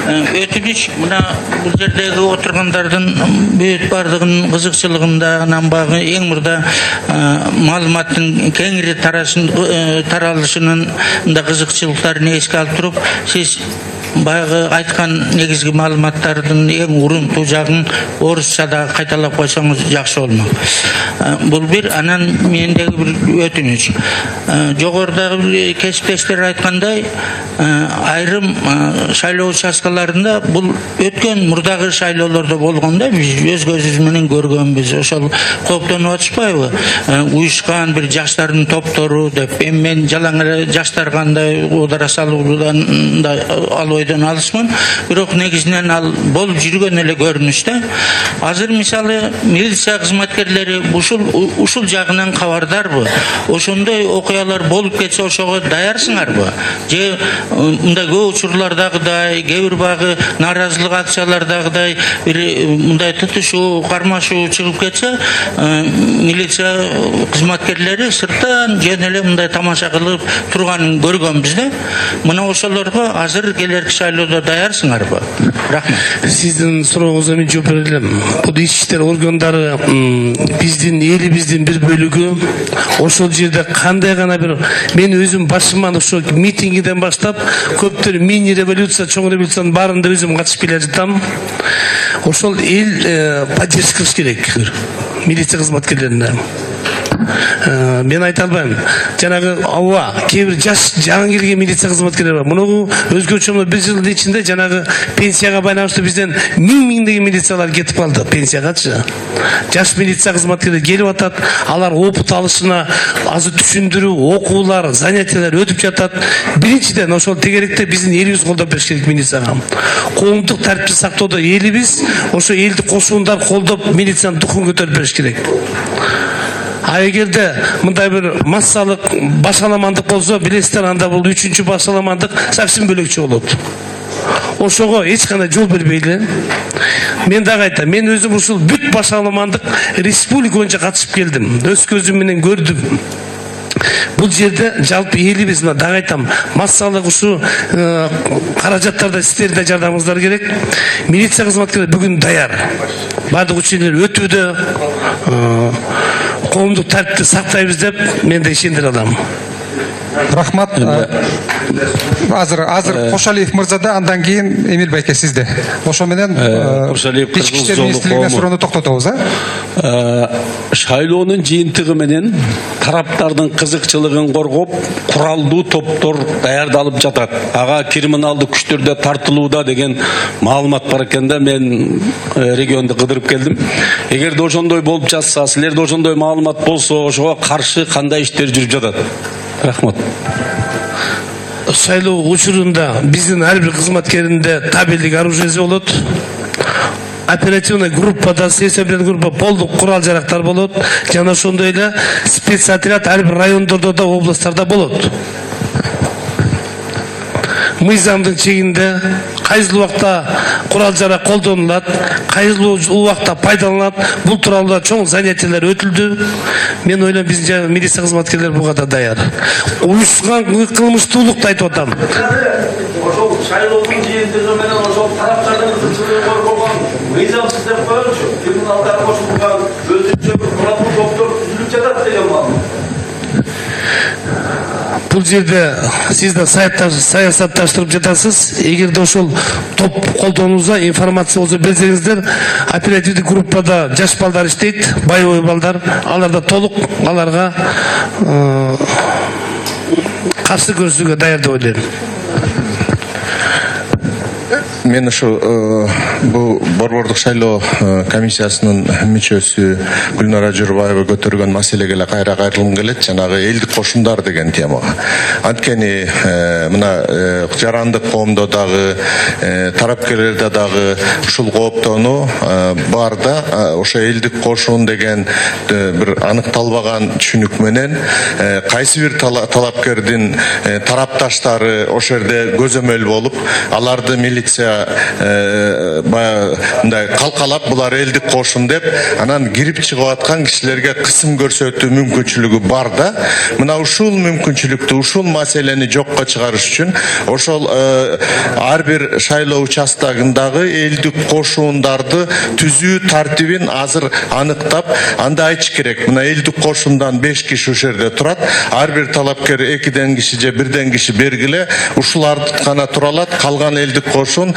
Өтүнүч мына бул жердеги отургандардын бүт бардыгынын кызыкчылыгынан багы эң мурда маалыматтын кеңири таралышынын да кызыкчылыктарын эске алып туруп, сиз баягы айткан негизги маалыматтардын эң урунтуу жагын орусчада кайталап койсоңуз жакшы болмок. Бул бир. Анан мендеги бир өтүнүч. Жогорудагы кесиптештер айткандай, айрым шайлоо участкаларында бул өткөн мурдагы шайлоолордо болгондо биз өз көзүбүз менен көргөнбүз. Ошол кооптонуп атышпайбы? Уюшкан бир жаштардын топтору деп, эми мен жалаң эле жаштар кандай удара салуудан ал ойдон алысмын. Бирок негизинен ал болуп жүргөн эле көрүнүш да. Азыр мисалы милиция кызматкерлери ушул ушул жагынан кабардарбы? Ошондой окуялар болуп кетсе ошого даярсыңарбы? Же мындай көп учурлардагыдай, кээ бир багы нааразылык акциялардагыдай бир мындай тутушуу, кармашуу чыгып кетсе, милиция кызматкерлери сырттан жөн эле мындай тамаша кылып турганын көргөнбүз да. Мына ошолорго азыр келерки шайлоодо даярсыңарбы? Рахмат. Сиздин сурооңузга мен жооп бере элем. Бул ички иштер органдары биздин элибиздин бир бөлүгү. Ошол жерде кандай гана бир мен өзүм башыман ошол митингиден баштап көптөр мини революция, чоң революциянын баарында өзүм катышып келе жатам. Ошол эл поддержка кылыш керек милиция кызматкерлерине. Мен айта албайм. Жанагы ооба кээ бир жаш жаңы келген милиция кызматкерлери бар. Муну өзгөчө бир жылдын ичинде жанагы пенсияга байланыштуу бизден миң миңдеген милициялар кетип калды пенсиягачы. Жаш милиция кызматкерлери келип атат, алар опыт алышына азыр түшүндүрүү, окуулар, занятиялар өтүп жатат. Биринчиден ошол тегеректе биздин элибиз колдоп бериш керек милицияга. Коомдук тартипти сактоодо элибиз, ошо элди кошундар колдоп милициянын духун көтөрүп бериш керек. А эгерде мындай бир массалык башаламандык болсо, билесиздер, анда бул үчүнчү башаламандык совсем бөлөкчө болот. Ошого эч кандай жол бербейли. Мен дагы айтам, мен өзүм ушул бүт башаламандык республика боюнча катышып келдим. Өз көзүм менен көрдүм. Бул жерде жалпы элибиз, дагы айтам, массалык ушу каражаттарда сиздерде жардамыңыздар керек. Милиция кызматкерлери бүгүн даяр. Бардык училер өтүүдө, коомдук тартипти сактайбыз деп мен да ишендире алам. Рахмат. Азыр азыр Кошалиев мырза да, андан кийин Эмил байке сизде. Ошо менен ички иштер министрлигине суроону токтотобуз, а? Шайлоонун жыйынтыгы менен тараптардын кызыкчылыгын коргоп, куралдуу топтор даярдалып жатат. Ага криминалдык күчтөрдө тартылууда деген маалымат бар экен да, мен регионду кыдырып келдим. Эгерде ошондой болуп жатса, силерде ошондой маалымат болсо, ошого каршы кандай иштер жүрүп жатат? Рахмат. Шайлоо учурунда биздин ар бир кызматкеринде табелдик оружиеси болот. Оперативный группада, следственный группа полдук курал жарактар болот. Жана ошондой эле спецотряд ар бир райондордо да, областтарда болот. Мыйзамдын чегинде кайсыл убакта курал жарак колдонулат, кайсыл убакта пайдаланылат, бул тууралуу да чоң занятиялар өтүлдү. Мен ойлойм биздин милиция кызматкерлери буга да даяр. Уюшкан кылмыштуулукту айтып атам. Ошол шайлоонун жыйынтыгы менен ошол тараптардын кызыкчылыгын коргогон мыйзамсыз деп коелучу. Криминалдар кошулган өзүнчө бир куралдуу топтор түзүлүп жатат деген маалымат. Бул жерде сиз да саясатташтырып жатасыз. Эгерде ошол топ колдонуусу информация болсо берсеңиздер, оперативдик группада жаш балдар иштейт, боевой балдар, аларда толук аларга каршы көрсөтүүгө даяр деп ойлойм. Мен ушу бул борбордук шайлоо комиссиясынын мүчөсү Гүлнара Журбаева көтөргөн маселеге эле кайра кайрылгым келет, жанагы элдик кошундар деген темага. Анткени мына жарандык коомдо дагы, тарапкерлерде дагы ушул кооптонуу бар да. Ошо элдик кошун деген бир аныкталбаган түшүнүк менен кайсы бир талапкердин тарапташтары ошол жерде көзөмөл болуп, аларды милиция башка баягы мындай калкалап булар элдик кошун деп анан кирип чыгып аткан кишилерге кысым көрсөтүү мүмкүнчүлүгү бар да. Мына ушул мүмкүнчүлүктү, ушул маселени жокко чыгарыш үчүн ошол ар бир шайлоо участогундагы элдик кошуундарды түзүү тартибин азыр аныктап, анда айтыш керек. Мына элдик кошундан беш киши ушул жерде турат. Ар бир талапкер экиден киши же бирден киши бергиле, ушулар гана тура алат. Калган элдик кошун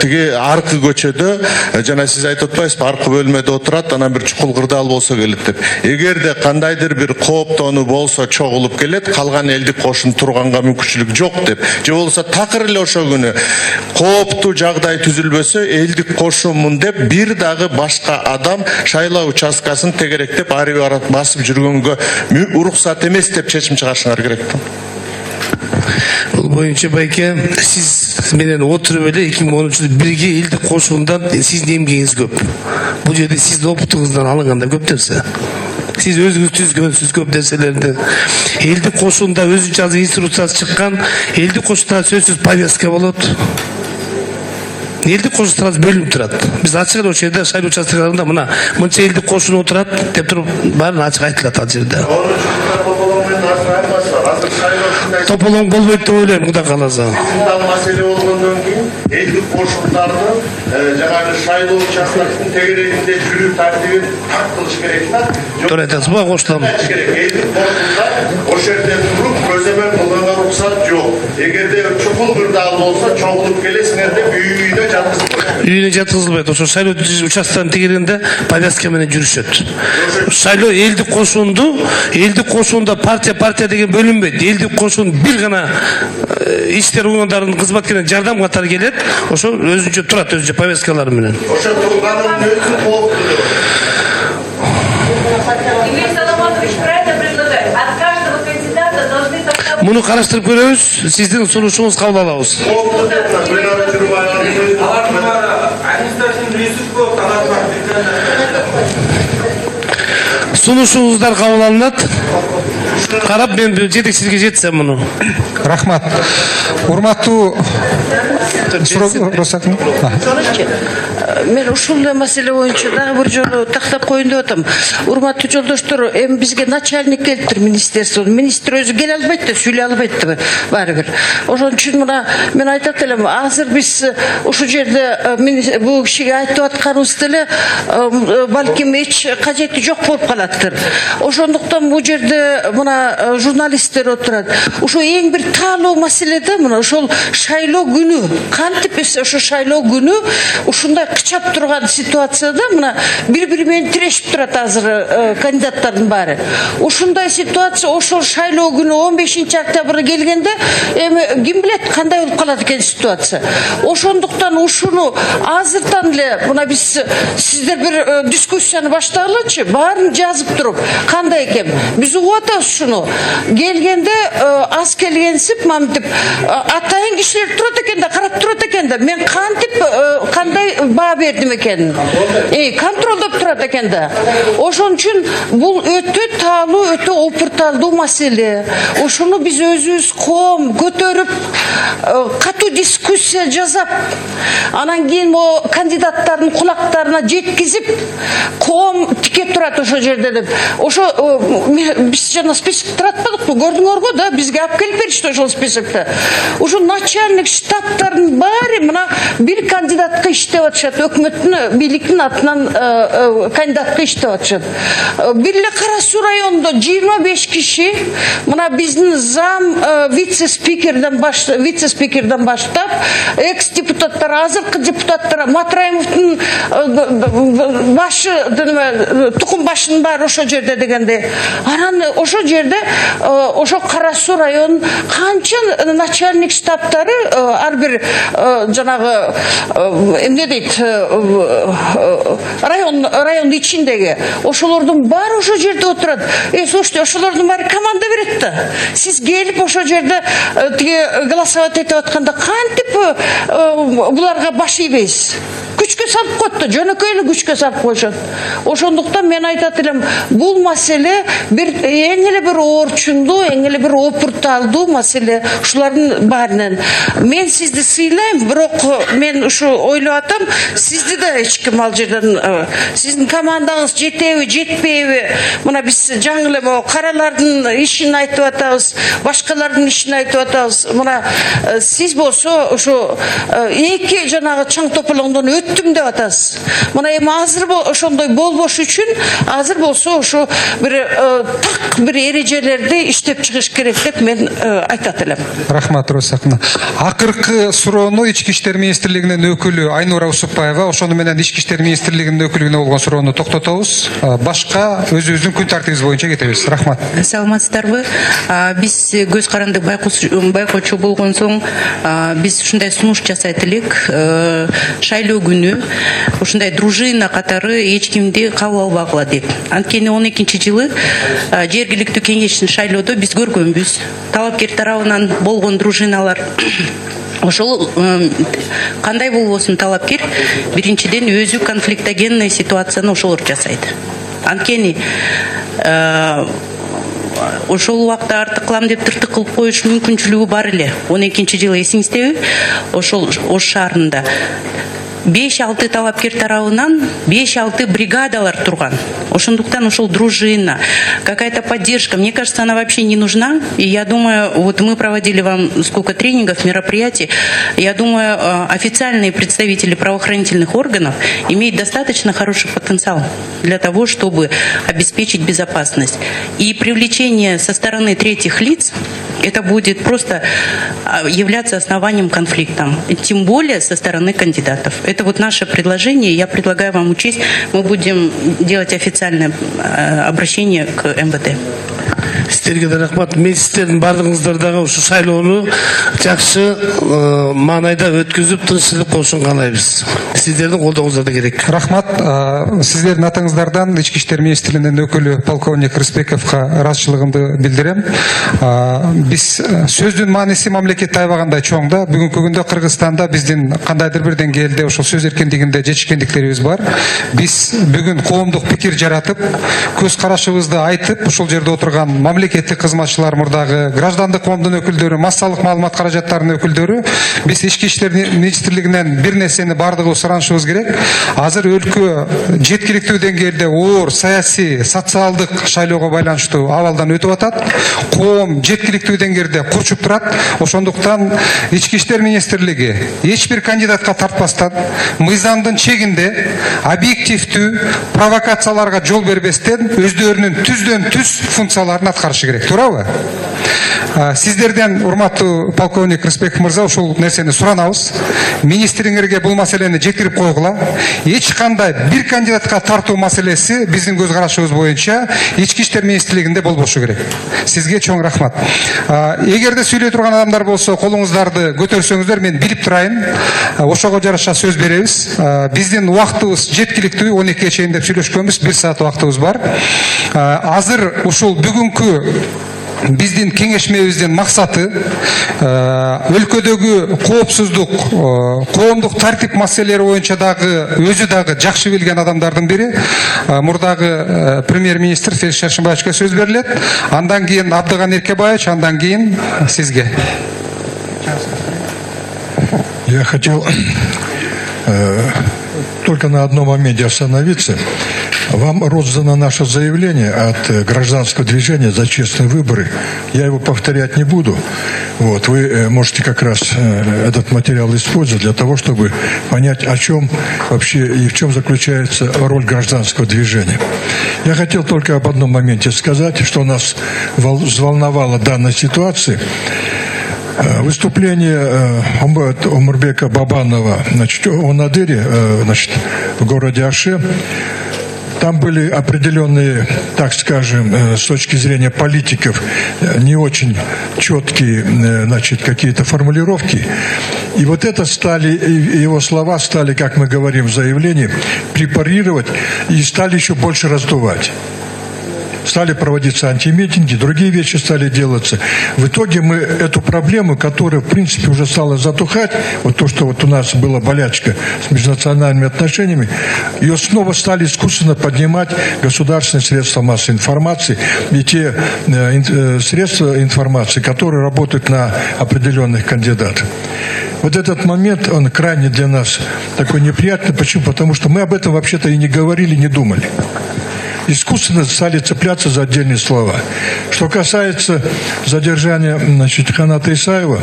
тиги аркы көчөдө, жана сиз айтып атпайсызбы, аркы бөлмөдө отурат, анан бир чукул кырдаал болсо келет деп. Эгерде кандайдыр бир кооптонуу болсо чогулуп келет, калган элдик кошун турганга мүмкүнчүлүк жок деп. Же болсо такыр эле ошол күнү кооптуу жагдай түзүлбөсө, элдик кошумун деп бир дагы башка адам шайлоо участкасын тегеректеп ары бери басып жүргөнгө уруксат эмес деп чечим чыгарышыңар керек. Бул боюнча байке, сиз менен отуруп эле эки миң онунчу жылы бирге элдик кошуундан сиздин эмгегиңиз көп. Бул жерде сиздин опытуңуздан алынганда көп нерсе. Сиз өзүңүз түзгөнсүз көп нерселерди. Элдик кошуунда өзүнчө азыр инструкциясы чыккан, элдик кошуунда сөзсүз повестка болот. Элдик кошуундар бөлүнүп турат. Биз ачык эле ошол жерде шайлоо участкаларында мына мынча элдик кошун отурат деп туруп баарын ачык айтылат ал жерде. Тополоң болбойт деп ойлойм, Кудай кааласа. Маселе болгондон кийин элдик кошундарды жанагы шайлоо участкасынын тегерегинде жүрүү тартибин так кылыш керек да. Туура айтасызбы, коштум. Элдик кошундар ошол жерде туруп көзөмөл кылганга уруксат жок. Эгерде чукул кырдаал болсо чогулуп келесиңер деп үйүнө жаткызылбайт. Үйүнө жаткызылбайт. Ошо шайлоо участканын тегерегинде повестка менен жүрүшөт. Шайлоо элдик кошунду, элдик кошуунда партия партия деген бөлүнбөйт. Элдик кошун бир гана иштер уюмдарынын кызматкерлерine жардам катары келет. Ошо өзүнчө турат, өзүнчө повесткалары менен. Ошо турганын өзү кооптуу. Игорь Соломонович правильно предлагает. От каждого кандидата должны так. Муну караштырып көрөбүз, сиздин сунушуңуз кабыл алабыз. Сунушуңуздар кабыл алынат. Карап мен жетекчиликке жетсем муну. Рахмат. Урматтуу Росатым. Мен ушул маселе боюнча дагы бир жолу тактап коеюн деп атам. Урматтуу жолдоштор, эми бизге начальник келиптир министерство. Министр өзү келе албайт да, сүйлөй албайт да баары бир. Ошон үчүн мына мен айтат элем, азыр биз ушул жерде бул кишиге айтып атканыбыз деле балким эч кажети жок болуп калаттыр. Ошондуктан бул жерде мына журналисттер отурат. Ушул эң бир таалуу маселе да, мына ошол шайлоо күнү. Кантип ошо шайлоо күнү ушундай кычап турган ситуацияда мына бири-бири менен тирешип турат азыр кандидаттардын баары. Ушундай ситуация ошол шайлоо күнү он бешинчи октябрга келгенде эми ким билет кандай болуп калат экен ситуация. Ошондуктан ушуну азырдан эле мына биз сиздер бир дискуссияны баштагылычы, баарын жазып туруп кандай экен. Биз угуп атабыз ушуну. Келгенде аз келгенсип мамтип атайын кишилер турат экен да, карап турат экен да. Мен кантип кандай баа бердим экен. Э, контролдоп турат экен да. Ошон үчүн бул өтө таалуу, өтө опурталдуу маселе. Ошону биз өзүбүз коом көтөрүп, катуу дискуссия жасап, анан кийин мо кандидаттардын кулактарына жеткизип, коом тике турат ошол жерде деп. Ошо биз жана список таратпадыкпы, көрдүңөргө да, бизге алып келип беришти ошол списокто. Ошо начальник штабтардын баары мына бир кандидатка иштеп атышат, өкмөттүн бийликтин атынан кандидатка иштеп атышат. Бир эле Кара Суу районунда жыйырма беш киши, мына биздин зам вице-спикерден баштап, вице-спикерден баштап, экс-депутаттар, азыркы депутаттар, Матраимовдун башы, тукум башынын баары ошол жерде дегенде. Анан ошол жерде ошо Кара Суу районунун канча начальник штабтары ар бир жанагы эмне дейт район райондун ичиндеги ошолордун баары ошол жерде отурат. Э, слушайте, ошолордун баары команда берет да. Сиз келип ошол жерде тиги голосовать этип атканда кантип буларга баш ийбейсиз? Күчкө салып коет да, жөнөкөй эле күчкө салып коюшат. Ошондуктан мен айтат элем, бул маселе бир эң эле бир орчундуу, эң эле бир опурталдуу маселе ушулардын баарынан. Мен сизди сыйлайм, бирок мен ушу ойлоп атам, сизди да эч ким ал жерден, сиздин командаңыз жетеби, жетпейби? Мына биз жаңы эле могу каралардын ишин айтып атабыз, башкалардын ишин айтып атабыз. Мына сиз болсо ушу эки жанагы чаң тополоңдон өттүм деп атасыз. Мына эми азыр ошондой болбош үчүн азыр болсо ушу бир так бир эрежелерди иштеп чыгыш керек деп мен айтат элем. Рахмат, Росакна. Акыркы суроону Ички иштер министрлигинин өкүлү Айнура Усупбаева, ошону менен Ички иштер министрлигинин өкүлүнө болгон суроону токтотобуз. Башка өзүбүздүн күн тартибиз боюнча кетебиз. Рахмат. Саламатсыздарбы? Биз көз каранды байкоочу болгон соң биз ушундай сунуш жасайт элек. Шайлоо күнү ушундай дружина катары эч кимди кабыл албагыла деп. Анткени он экинчи жылы жергиликтүү кеңештин шайлоодо биз көргөнбүз. Талапкер тарабынан болгон дружиналар ошол кандай болбосун талапкер биринчиден өзү конфликтогенный ситуацияны ошолор жасайт. Анткени ошол убакта артык кылам деп тыртык кылып коюш мүмкүнчүлүгү бар эле. он экинчи жылы эсиңиздеби? Ошол Ош шаарында беш алты талапкер тарабынан беш алты бригадалар турган. Ошондуктан ошол дружина, какая-то поддержка, мне кажется, она вообще не нужна. И я думаю, вот мы проводили вам сколько тренингов, мероприятий, я думаю, официальные представители правоохранительных органов имеют достаточно хороший потенциал для того, чтобы обеспечить безопасность. И привлечение со стороны третьих лиц, это будет просто являться основанием конфликта, тем более со стороны кандидатов. Это вот наше предложение, я предлагаю вам учесть, мы будем делать официальное обращение к МВД. Сіздерге да рахмат. Мен сіздердің барлығыңыздарға ушу шайлоону жакшы маанайда өткүзүп тынччылык болушун каалайбыз. Сиздердин колдооңуздар керек. Рахмат. Сиздердин атыңыздардан Ички иштер министрлигинин өкүлү полковник Рысбековго ыраазычылыгымды билдирем. Биз сөздүн мааниси мамлекетте аябагандай чоң да. Бүгүнкү күндө Кыргызстанда биздин кандайдыр бир деңгээлде ошол сөз эркиндигинде жетишкендиктерибиз бар. Биз бүгүн коомдук пикир жаратып, көз карашыбызды айтып, ошол жерде отурган мамлекеттик кызматчылар, мурдагы граждандык коомдун өкүлдөрү, массалык маалымат каражаттарынын өкүлдөрү, биз Ички иштер министрлигинен бир нерсени бардыгыбыз суранышыбыз керек. Азыр өлкө жеткиликтүү деңгээлде оор саясий, социалдык шайлоого байланыштуу абалдан өтүп атат. Коом жеткиликтүү деңгээлде курчуп турат. Ошондуктан Ички иштер министрлиги эч бир кандидатка тартпастан, мыйзамдын чегинде объективдүү провокацияларга жол бербестен өздөрүнүн түздөн түз функцияларын аткарышы керек. Туурабы? Сиздерден, урматтуу полковник Рысбеков мырза, ушул нерсени суранабыз. Министриңерге бул маселени жеткирип койгула. Эч кандай бир кандидатка тартуу маселеси биздин көз карашыбыз боюнча Ички иштер министрлигинде болбошу керек. Сизге чоң рахмат. Эгерде сүйлөй турган адамдар болсо, колуңуздарды көтөрсөңүздөр, мен билип турайын. Ошого жараша сөз беребиз. Биздин убактыбыз жеткиликтүү, он экиге чейин деп сүйлөшкөнбүз, бир саат убактыбыз бар. Азыр ушул бүгүнкү биздин кеңешмебиздин максаты өлкөдөгү коопсуздук, коомдук тартип маселелери боюнча дагы өзү дагы жакшы билген адамдардын бири мурдагы премьер-министр Феликс Шаршембаевичке сөз берилет. Андан кийин Абдыган Эркебаевич, андан кийин сизге. Я хотел э, только на одном моменте остановиться. Вам роздано наше заявление от гражданского движения за честные выборы. Я его повторять не буду. Вот, вы можете как раз этот материал использовать для того, чтобы понять, о чем вообще и в чем заключается роль гражданского движения. Я хотел только об одном моменте сказать, что нас взволновало данной ситуации. Выступление Омурбека Бабанова, значит, о Надыре, значит, в городе Аше. Там были определенные, так скажем, с точки зрения политиков, не очень четкие, значит, какие-то формулировки. И вот это стали, его слова стали, как мы говорим в заявлении, препарировать и стали еще больше раздувать. стали проводиться антимитинги, другие вещи стали делаться. В итоге мы эту проблему, которая в принципе уже стала затухать, вот то, что вот у нас была болячка с межнациональными отношениями, ее снова стали искусственно поднимать государственные средства массовой информации и те э, средства информации, которые работают на определенных кандидатов. Вот этот момент, он крайне для нас такой неприятный. Почему? Потому что мы об этом вообще-то и не говорили, не думали. Искусственно стали цепляться за отдельные слова. Что касается задержания, значит, Ханата Исаева,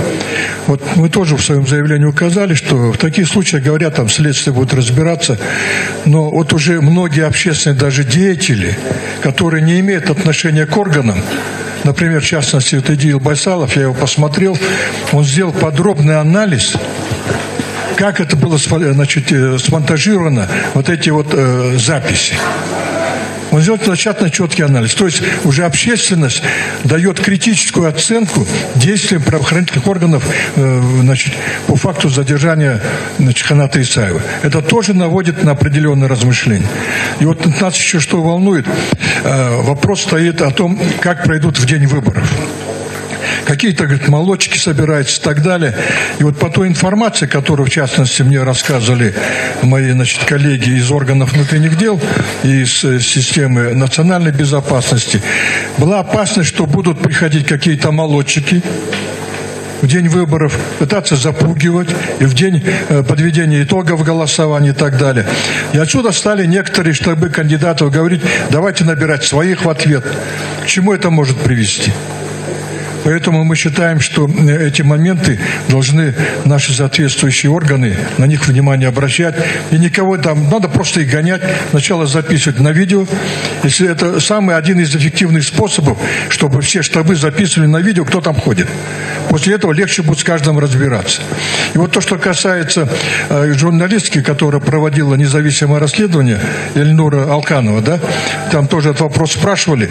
вот мы тоже в своем заявлении указали, что в таких случаях, говорят, там следствие будет разбираться, но вот уже многие общественные даже деятели, которые не имеют отношения к органам, например, в частности, вот Эдил Байсалов, я его посмотрел, он сделал подробный анализ, как это было, значит, смонтажировано, вот эти вот э, записи. Он сделал достаточно четкий анализ. То есть уже общественность дает критическую оценку действиям правоохранительных органов э, значит, по факту задержания, значит, Ханата Исаева. Это тоже наводит на определенные размышления. И вот нас еще что волнует, э, вопрос стоит о том, как пройдут в день выборов. Какие-то, говорит, молодчики собираются и так далее. И вот по той информации, которую, в частности, мне рассказывали мои, значит, коллеги из органов внутренних дел и из системы национальной безопасности, была опасность, что будут приходить какие-то молодчики в день выборов, пытаться запугивать, и в день э, подведения итогов голосования и так далее. И отсюда стали некоторые штабы кандидатов говорить, давайте набирать своих в ответ. К чему это может привести? Поэтому мы считаем, что эти моменты должны наши соответствующие органы на них внимание обращать. И никого там, надо просто их гонять, сначала записывать на видео. Если это самый один из эффективных способов, чтобы все штабы записывали на видео, кто там ходит. После этого легче будет с каждым разбираться. И вот то, что касается э, журналистки, которая проводила независимое расследование, Эльнура Алканова, да, там тоже этот вопрос спрашивали.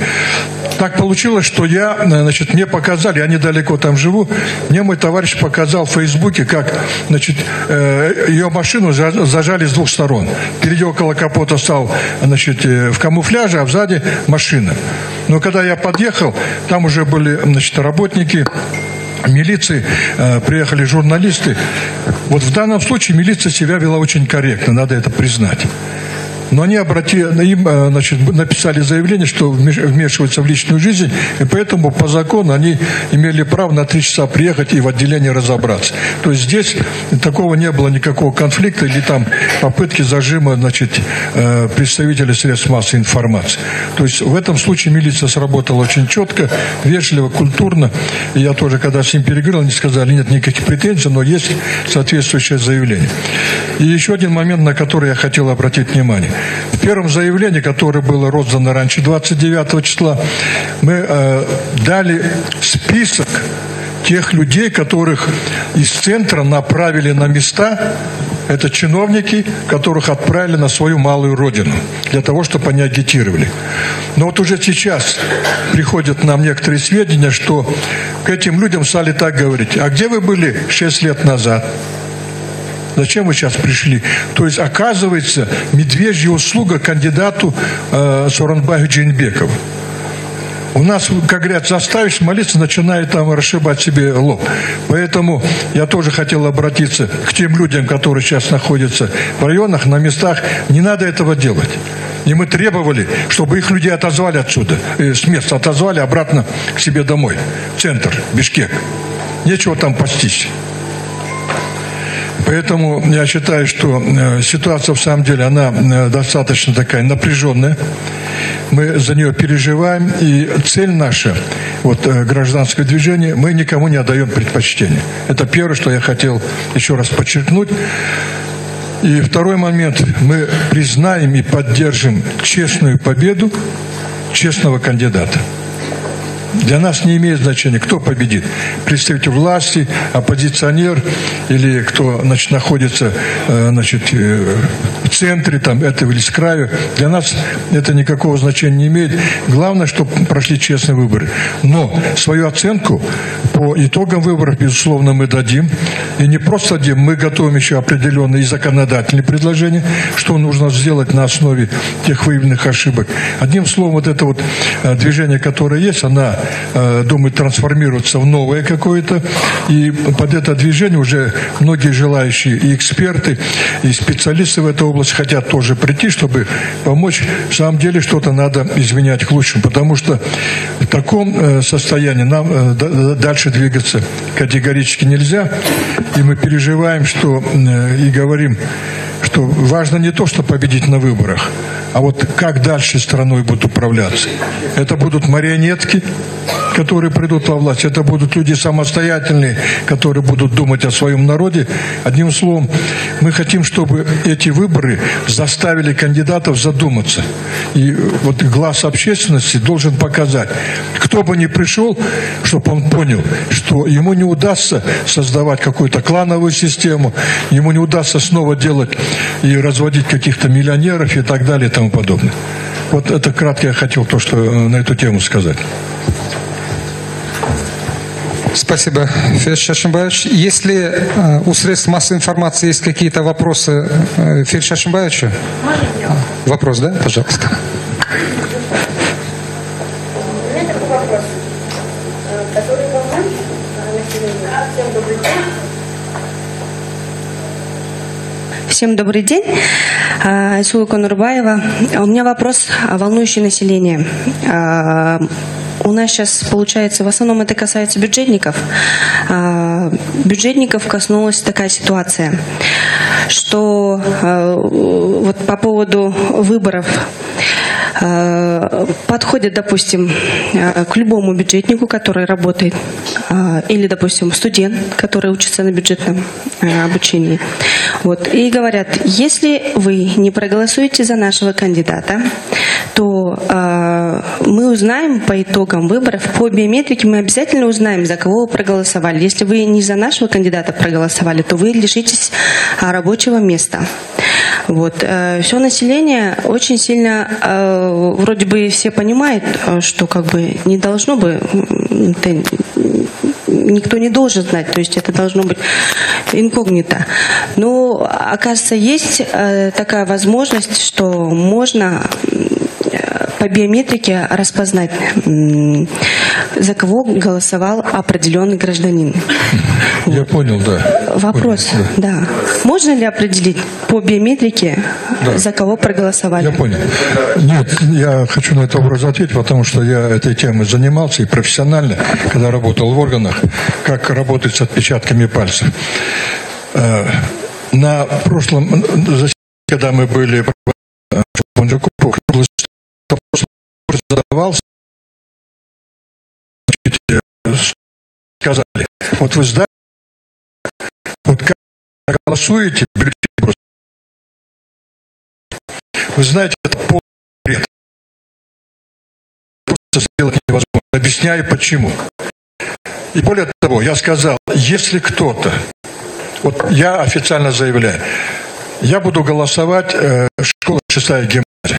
Так получилось, что я, значит, мне показали, я недалеко там живу, мне мой товарищ показал в Фейсбуке, как, значит, э, ее машину зажали с двух сторон. Впереди около капота стал, значит, в камуфляже, а сзади машина. Но когда я подъехал, там уже были, значит, работники милиции, э, приехали журналисты. Вот в данном случае милиция себя вела очень корректно, надо это признать. Но они обратили, им, значит, написали заявление, что вмешиваются в личную жизнь, и поэтому по закону они имели право на три часа приехать и в отделении разобраться. То есть здесь такого не было никакого конфликта или там попытки зажима, значит, представителей средств массовой информации. То есть в этом случае милиция сработала очень четко, вежливо, культурно. И я тоже, когда с ним переговорил, они сказали, нет никаких претензий, но есть соответствующее заявление. И еще один момент, на который я хотел обратить внимание. В первом заявлении, которое было роздано раньше двадцать девятого числа, мы э, дали список тех людей, которых из центра направили на места. Это чиновники, которых отправили на свою малую родину, для того, чтобы они агитировали. Но вот уже сейчас приходят нам некоторые сведения, что к этим людям стали так говорить: а где вы были шесть лет назад? Зачем вы сейчас пришли? То есть, оказывается, медвежья услуга кандидату э, Сооронбаю Жээнбекову. У нас, как говорят, заставишь молиться, начинает там расшибать себе лоб. Поэтому я тоже хотел обратиться к тем людям, которые сейчас находятся в районах, на местах. Не надо этого делать. И мы требовали, чтобы их людей отозвали отсюда, э, с места отозвали обратно к себе домой, в центр, Бишкек. Нечего там пастись. Поэтому я считаю, что ситуация в самом деле, она достаточно такая напряженная. Мы за нее переживаем, и цель наша, вот гражданское движение, мы никому не отдаем предпочтение. Это первое, что я хотел еще раз подчеркнуть. И второй момент, мы признаем и поддержим честную победу честного кандидата. Для нас не имеет значения, кто победит. Представитель власти, оппозиционер или кто, значит, находится, значит, в центре там, этого или с краю. Для нас это никакого значения не имеет. Главное, чтобы прошли честные выборы. Но свою оценку по итогам выборов, безусловно, мы дадим. И не просто дадим, мы готовим еще определенные законодательные предложения, что нужно сделать на основе тех выявленных ошибок. Одним словом, вот это вот движение, которое есть, она, думаю, трансформируется в новое какое-то. И под это движение уже многие желающие и эксперты, и специалисты в этой области хотят тоже прийти, чтобы помочь. В самом деле что-то надо изменять к лучшему, потому что в таком состоянии нам дальше двигаться категорически нельзя. И мы переживаем, что и говорим, что важно не то, что победить на выборах, а вот как дальше страной будут управляться. Это будут марионетки, которые придут во власть, это будут люди самостоятельные, которые будут думать о своем народе. Одним словом, мы хотим, чтобы эти выборы заставили кандидатов задуматься. И вот глаз общественности должен показать, кто бы ни пришел, чтобы он понял, что ему не удастся создавать какую-то клановую систему, ему не удастся снова делать и разводить каких-то миллионеров и так далее и тому подобное. Вот это кратко я хотел то, что на эту тему сказать. Спасибо, Федор Шашимбаевич. Если э, у средств массовой информации есть какие-то вопросы э, Федору Шашимбаевичу? А, вопрос, да? Пожалуйста. У меня такой вопрос, который волнует население. Всем добрый день. Всем добрый день. Айсула Конурбаева. У меня вопрос, волнующий население. У нас сейчас, получается, в основном это касается бюджетников. Бюджетников коснулась такая ситуация, что вот по поводу выборов подходит, допустим, к любому бюджетнику, который работает, или, допустим, студент, который учится на бюджетном обучении. Вот, и говорят, если вы не проголосуете за нашего кандидата, то э, мы узнаем по итогам выборов, по биометрике мы обязательно узнаем, за кого вы проголосовали. Если вы не за нашего кандидата проголосовали, то вы лишитесь а, рабочего места. Вот. Э, все население очень сильно, э, вроде бы все понимают, что как бы не должно бы, это, никто не должен знать, то есть это должно быть инкогнито. Но, оказывается, есть э, такая возможность, что можно по биометрике распознать, за кого голосовал определенный гражданин. Я понял, да. Вопрос, понял, да. да. Можно ли определить по биометрике, да, за кого проголосовали? Я понял. Нет, я хочу на этот вопрос ответить, потому что я этой темой занимался и профессионально, когда работал в органах, как работать с отпечатками пальцев. На прошлом заседании, когда мы были задавался, сказали, вот вы знаете, вот как голосуете, бюллетень, вы знаете, это полный бред. Просто сделать невозможно. Объясняю почему. И более того, я сказал, если кто-то, вот я официально заявляю, я буду голосовать, э, школа шестая гимназия.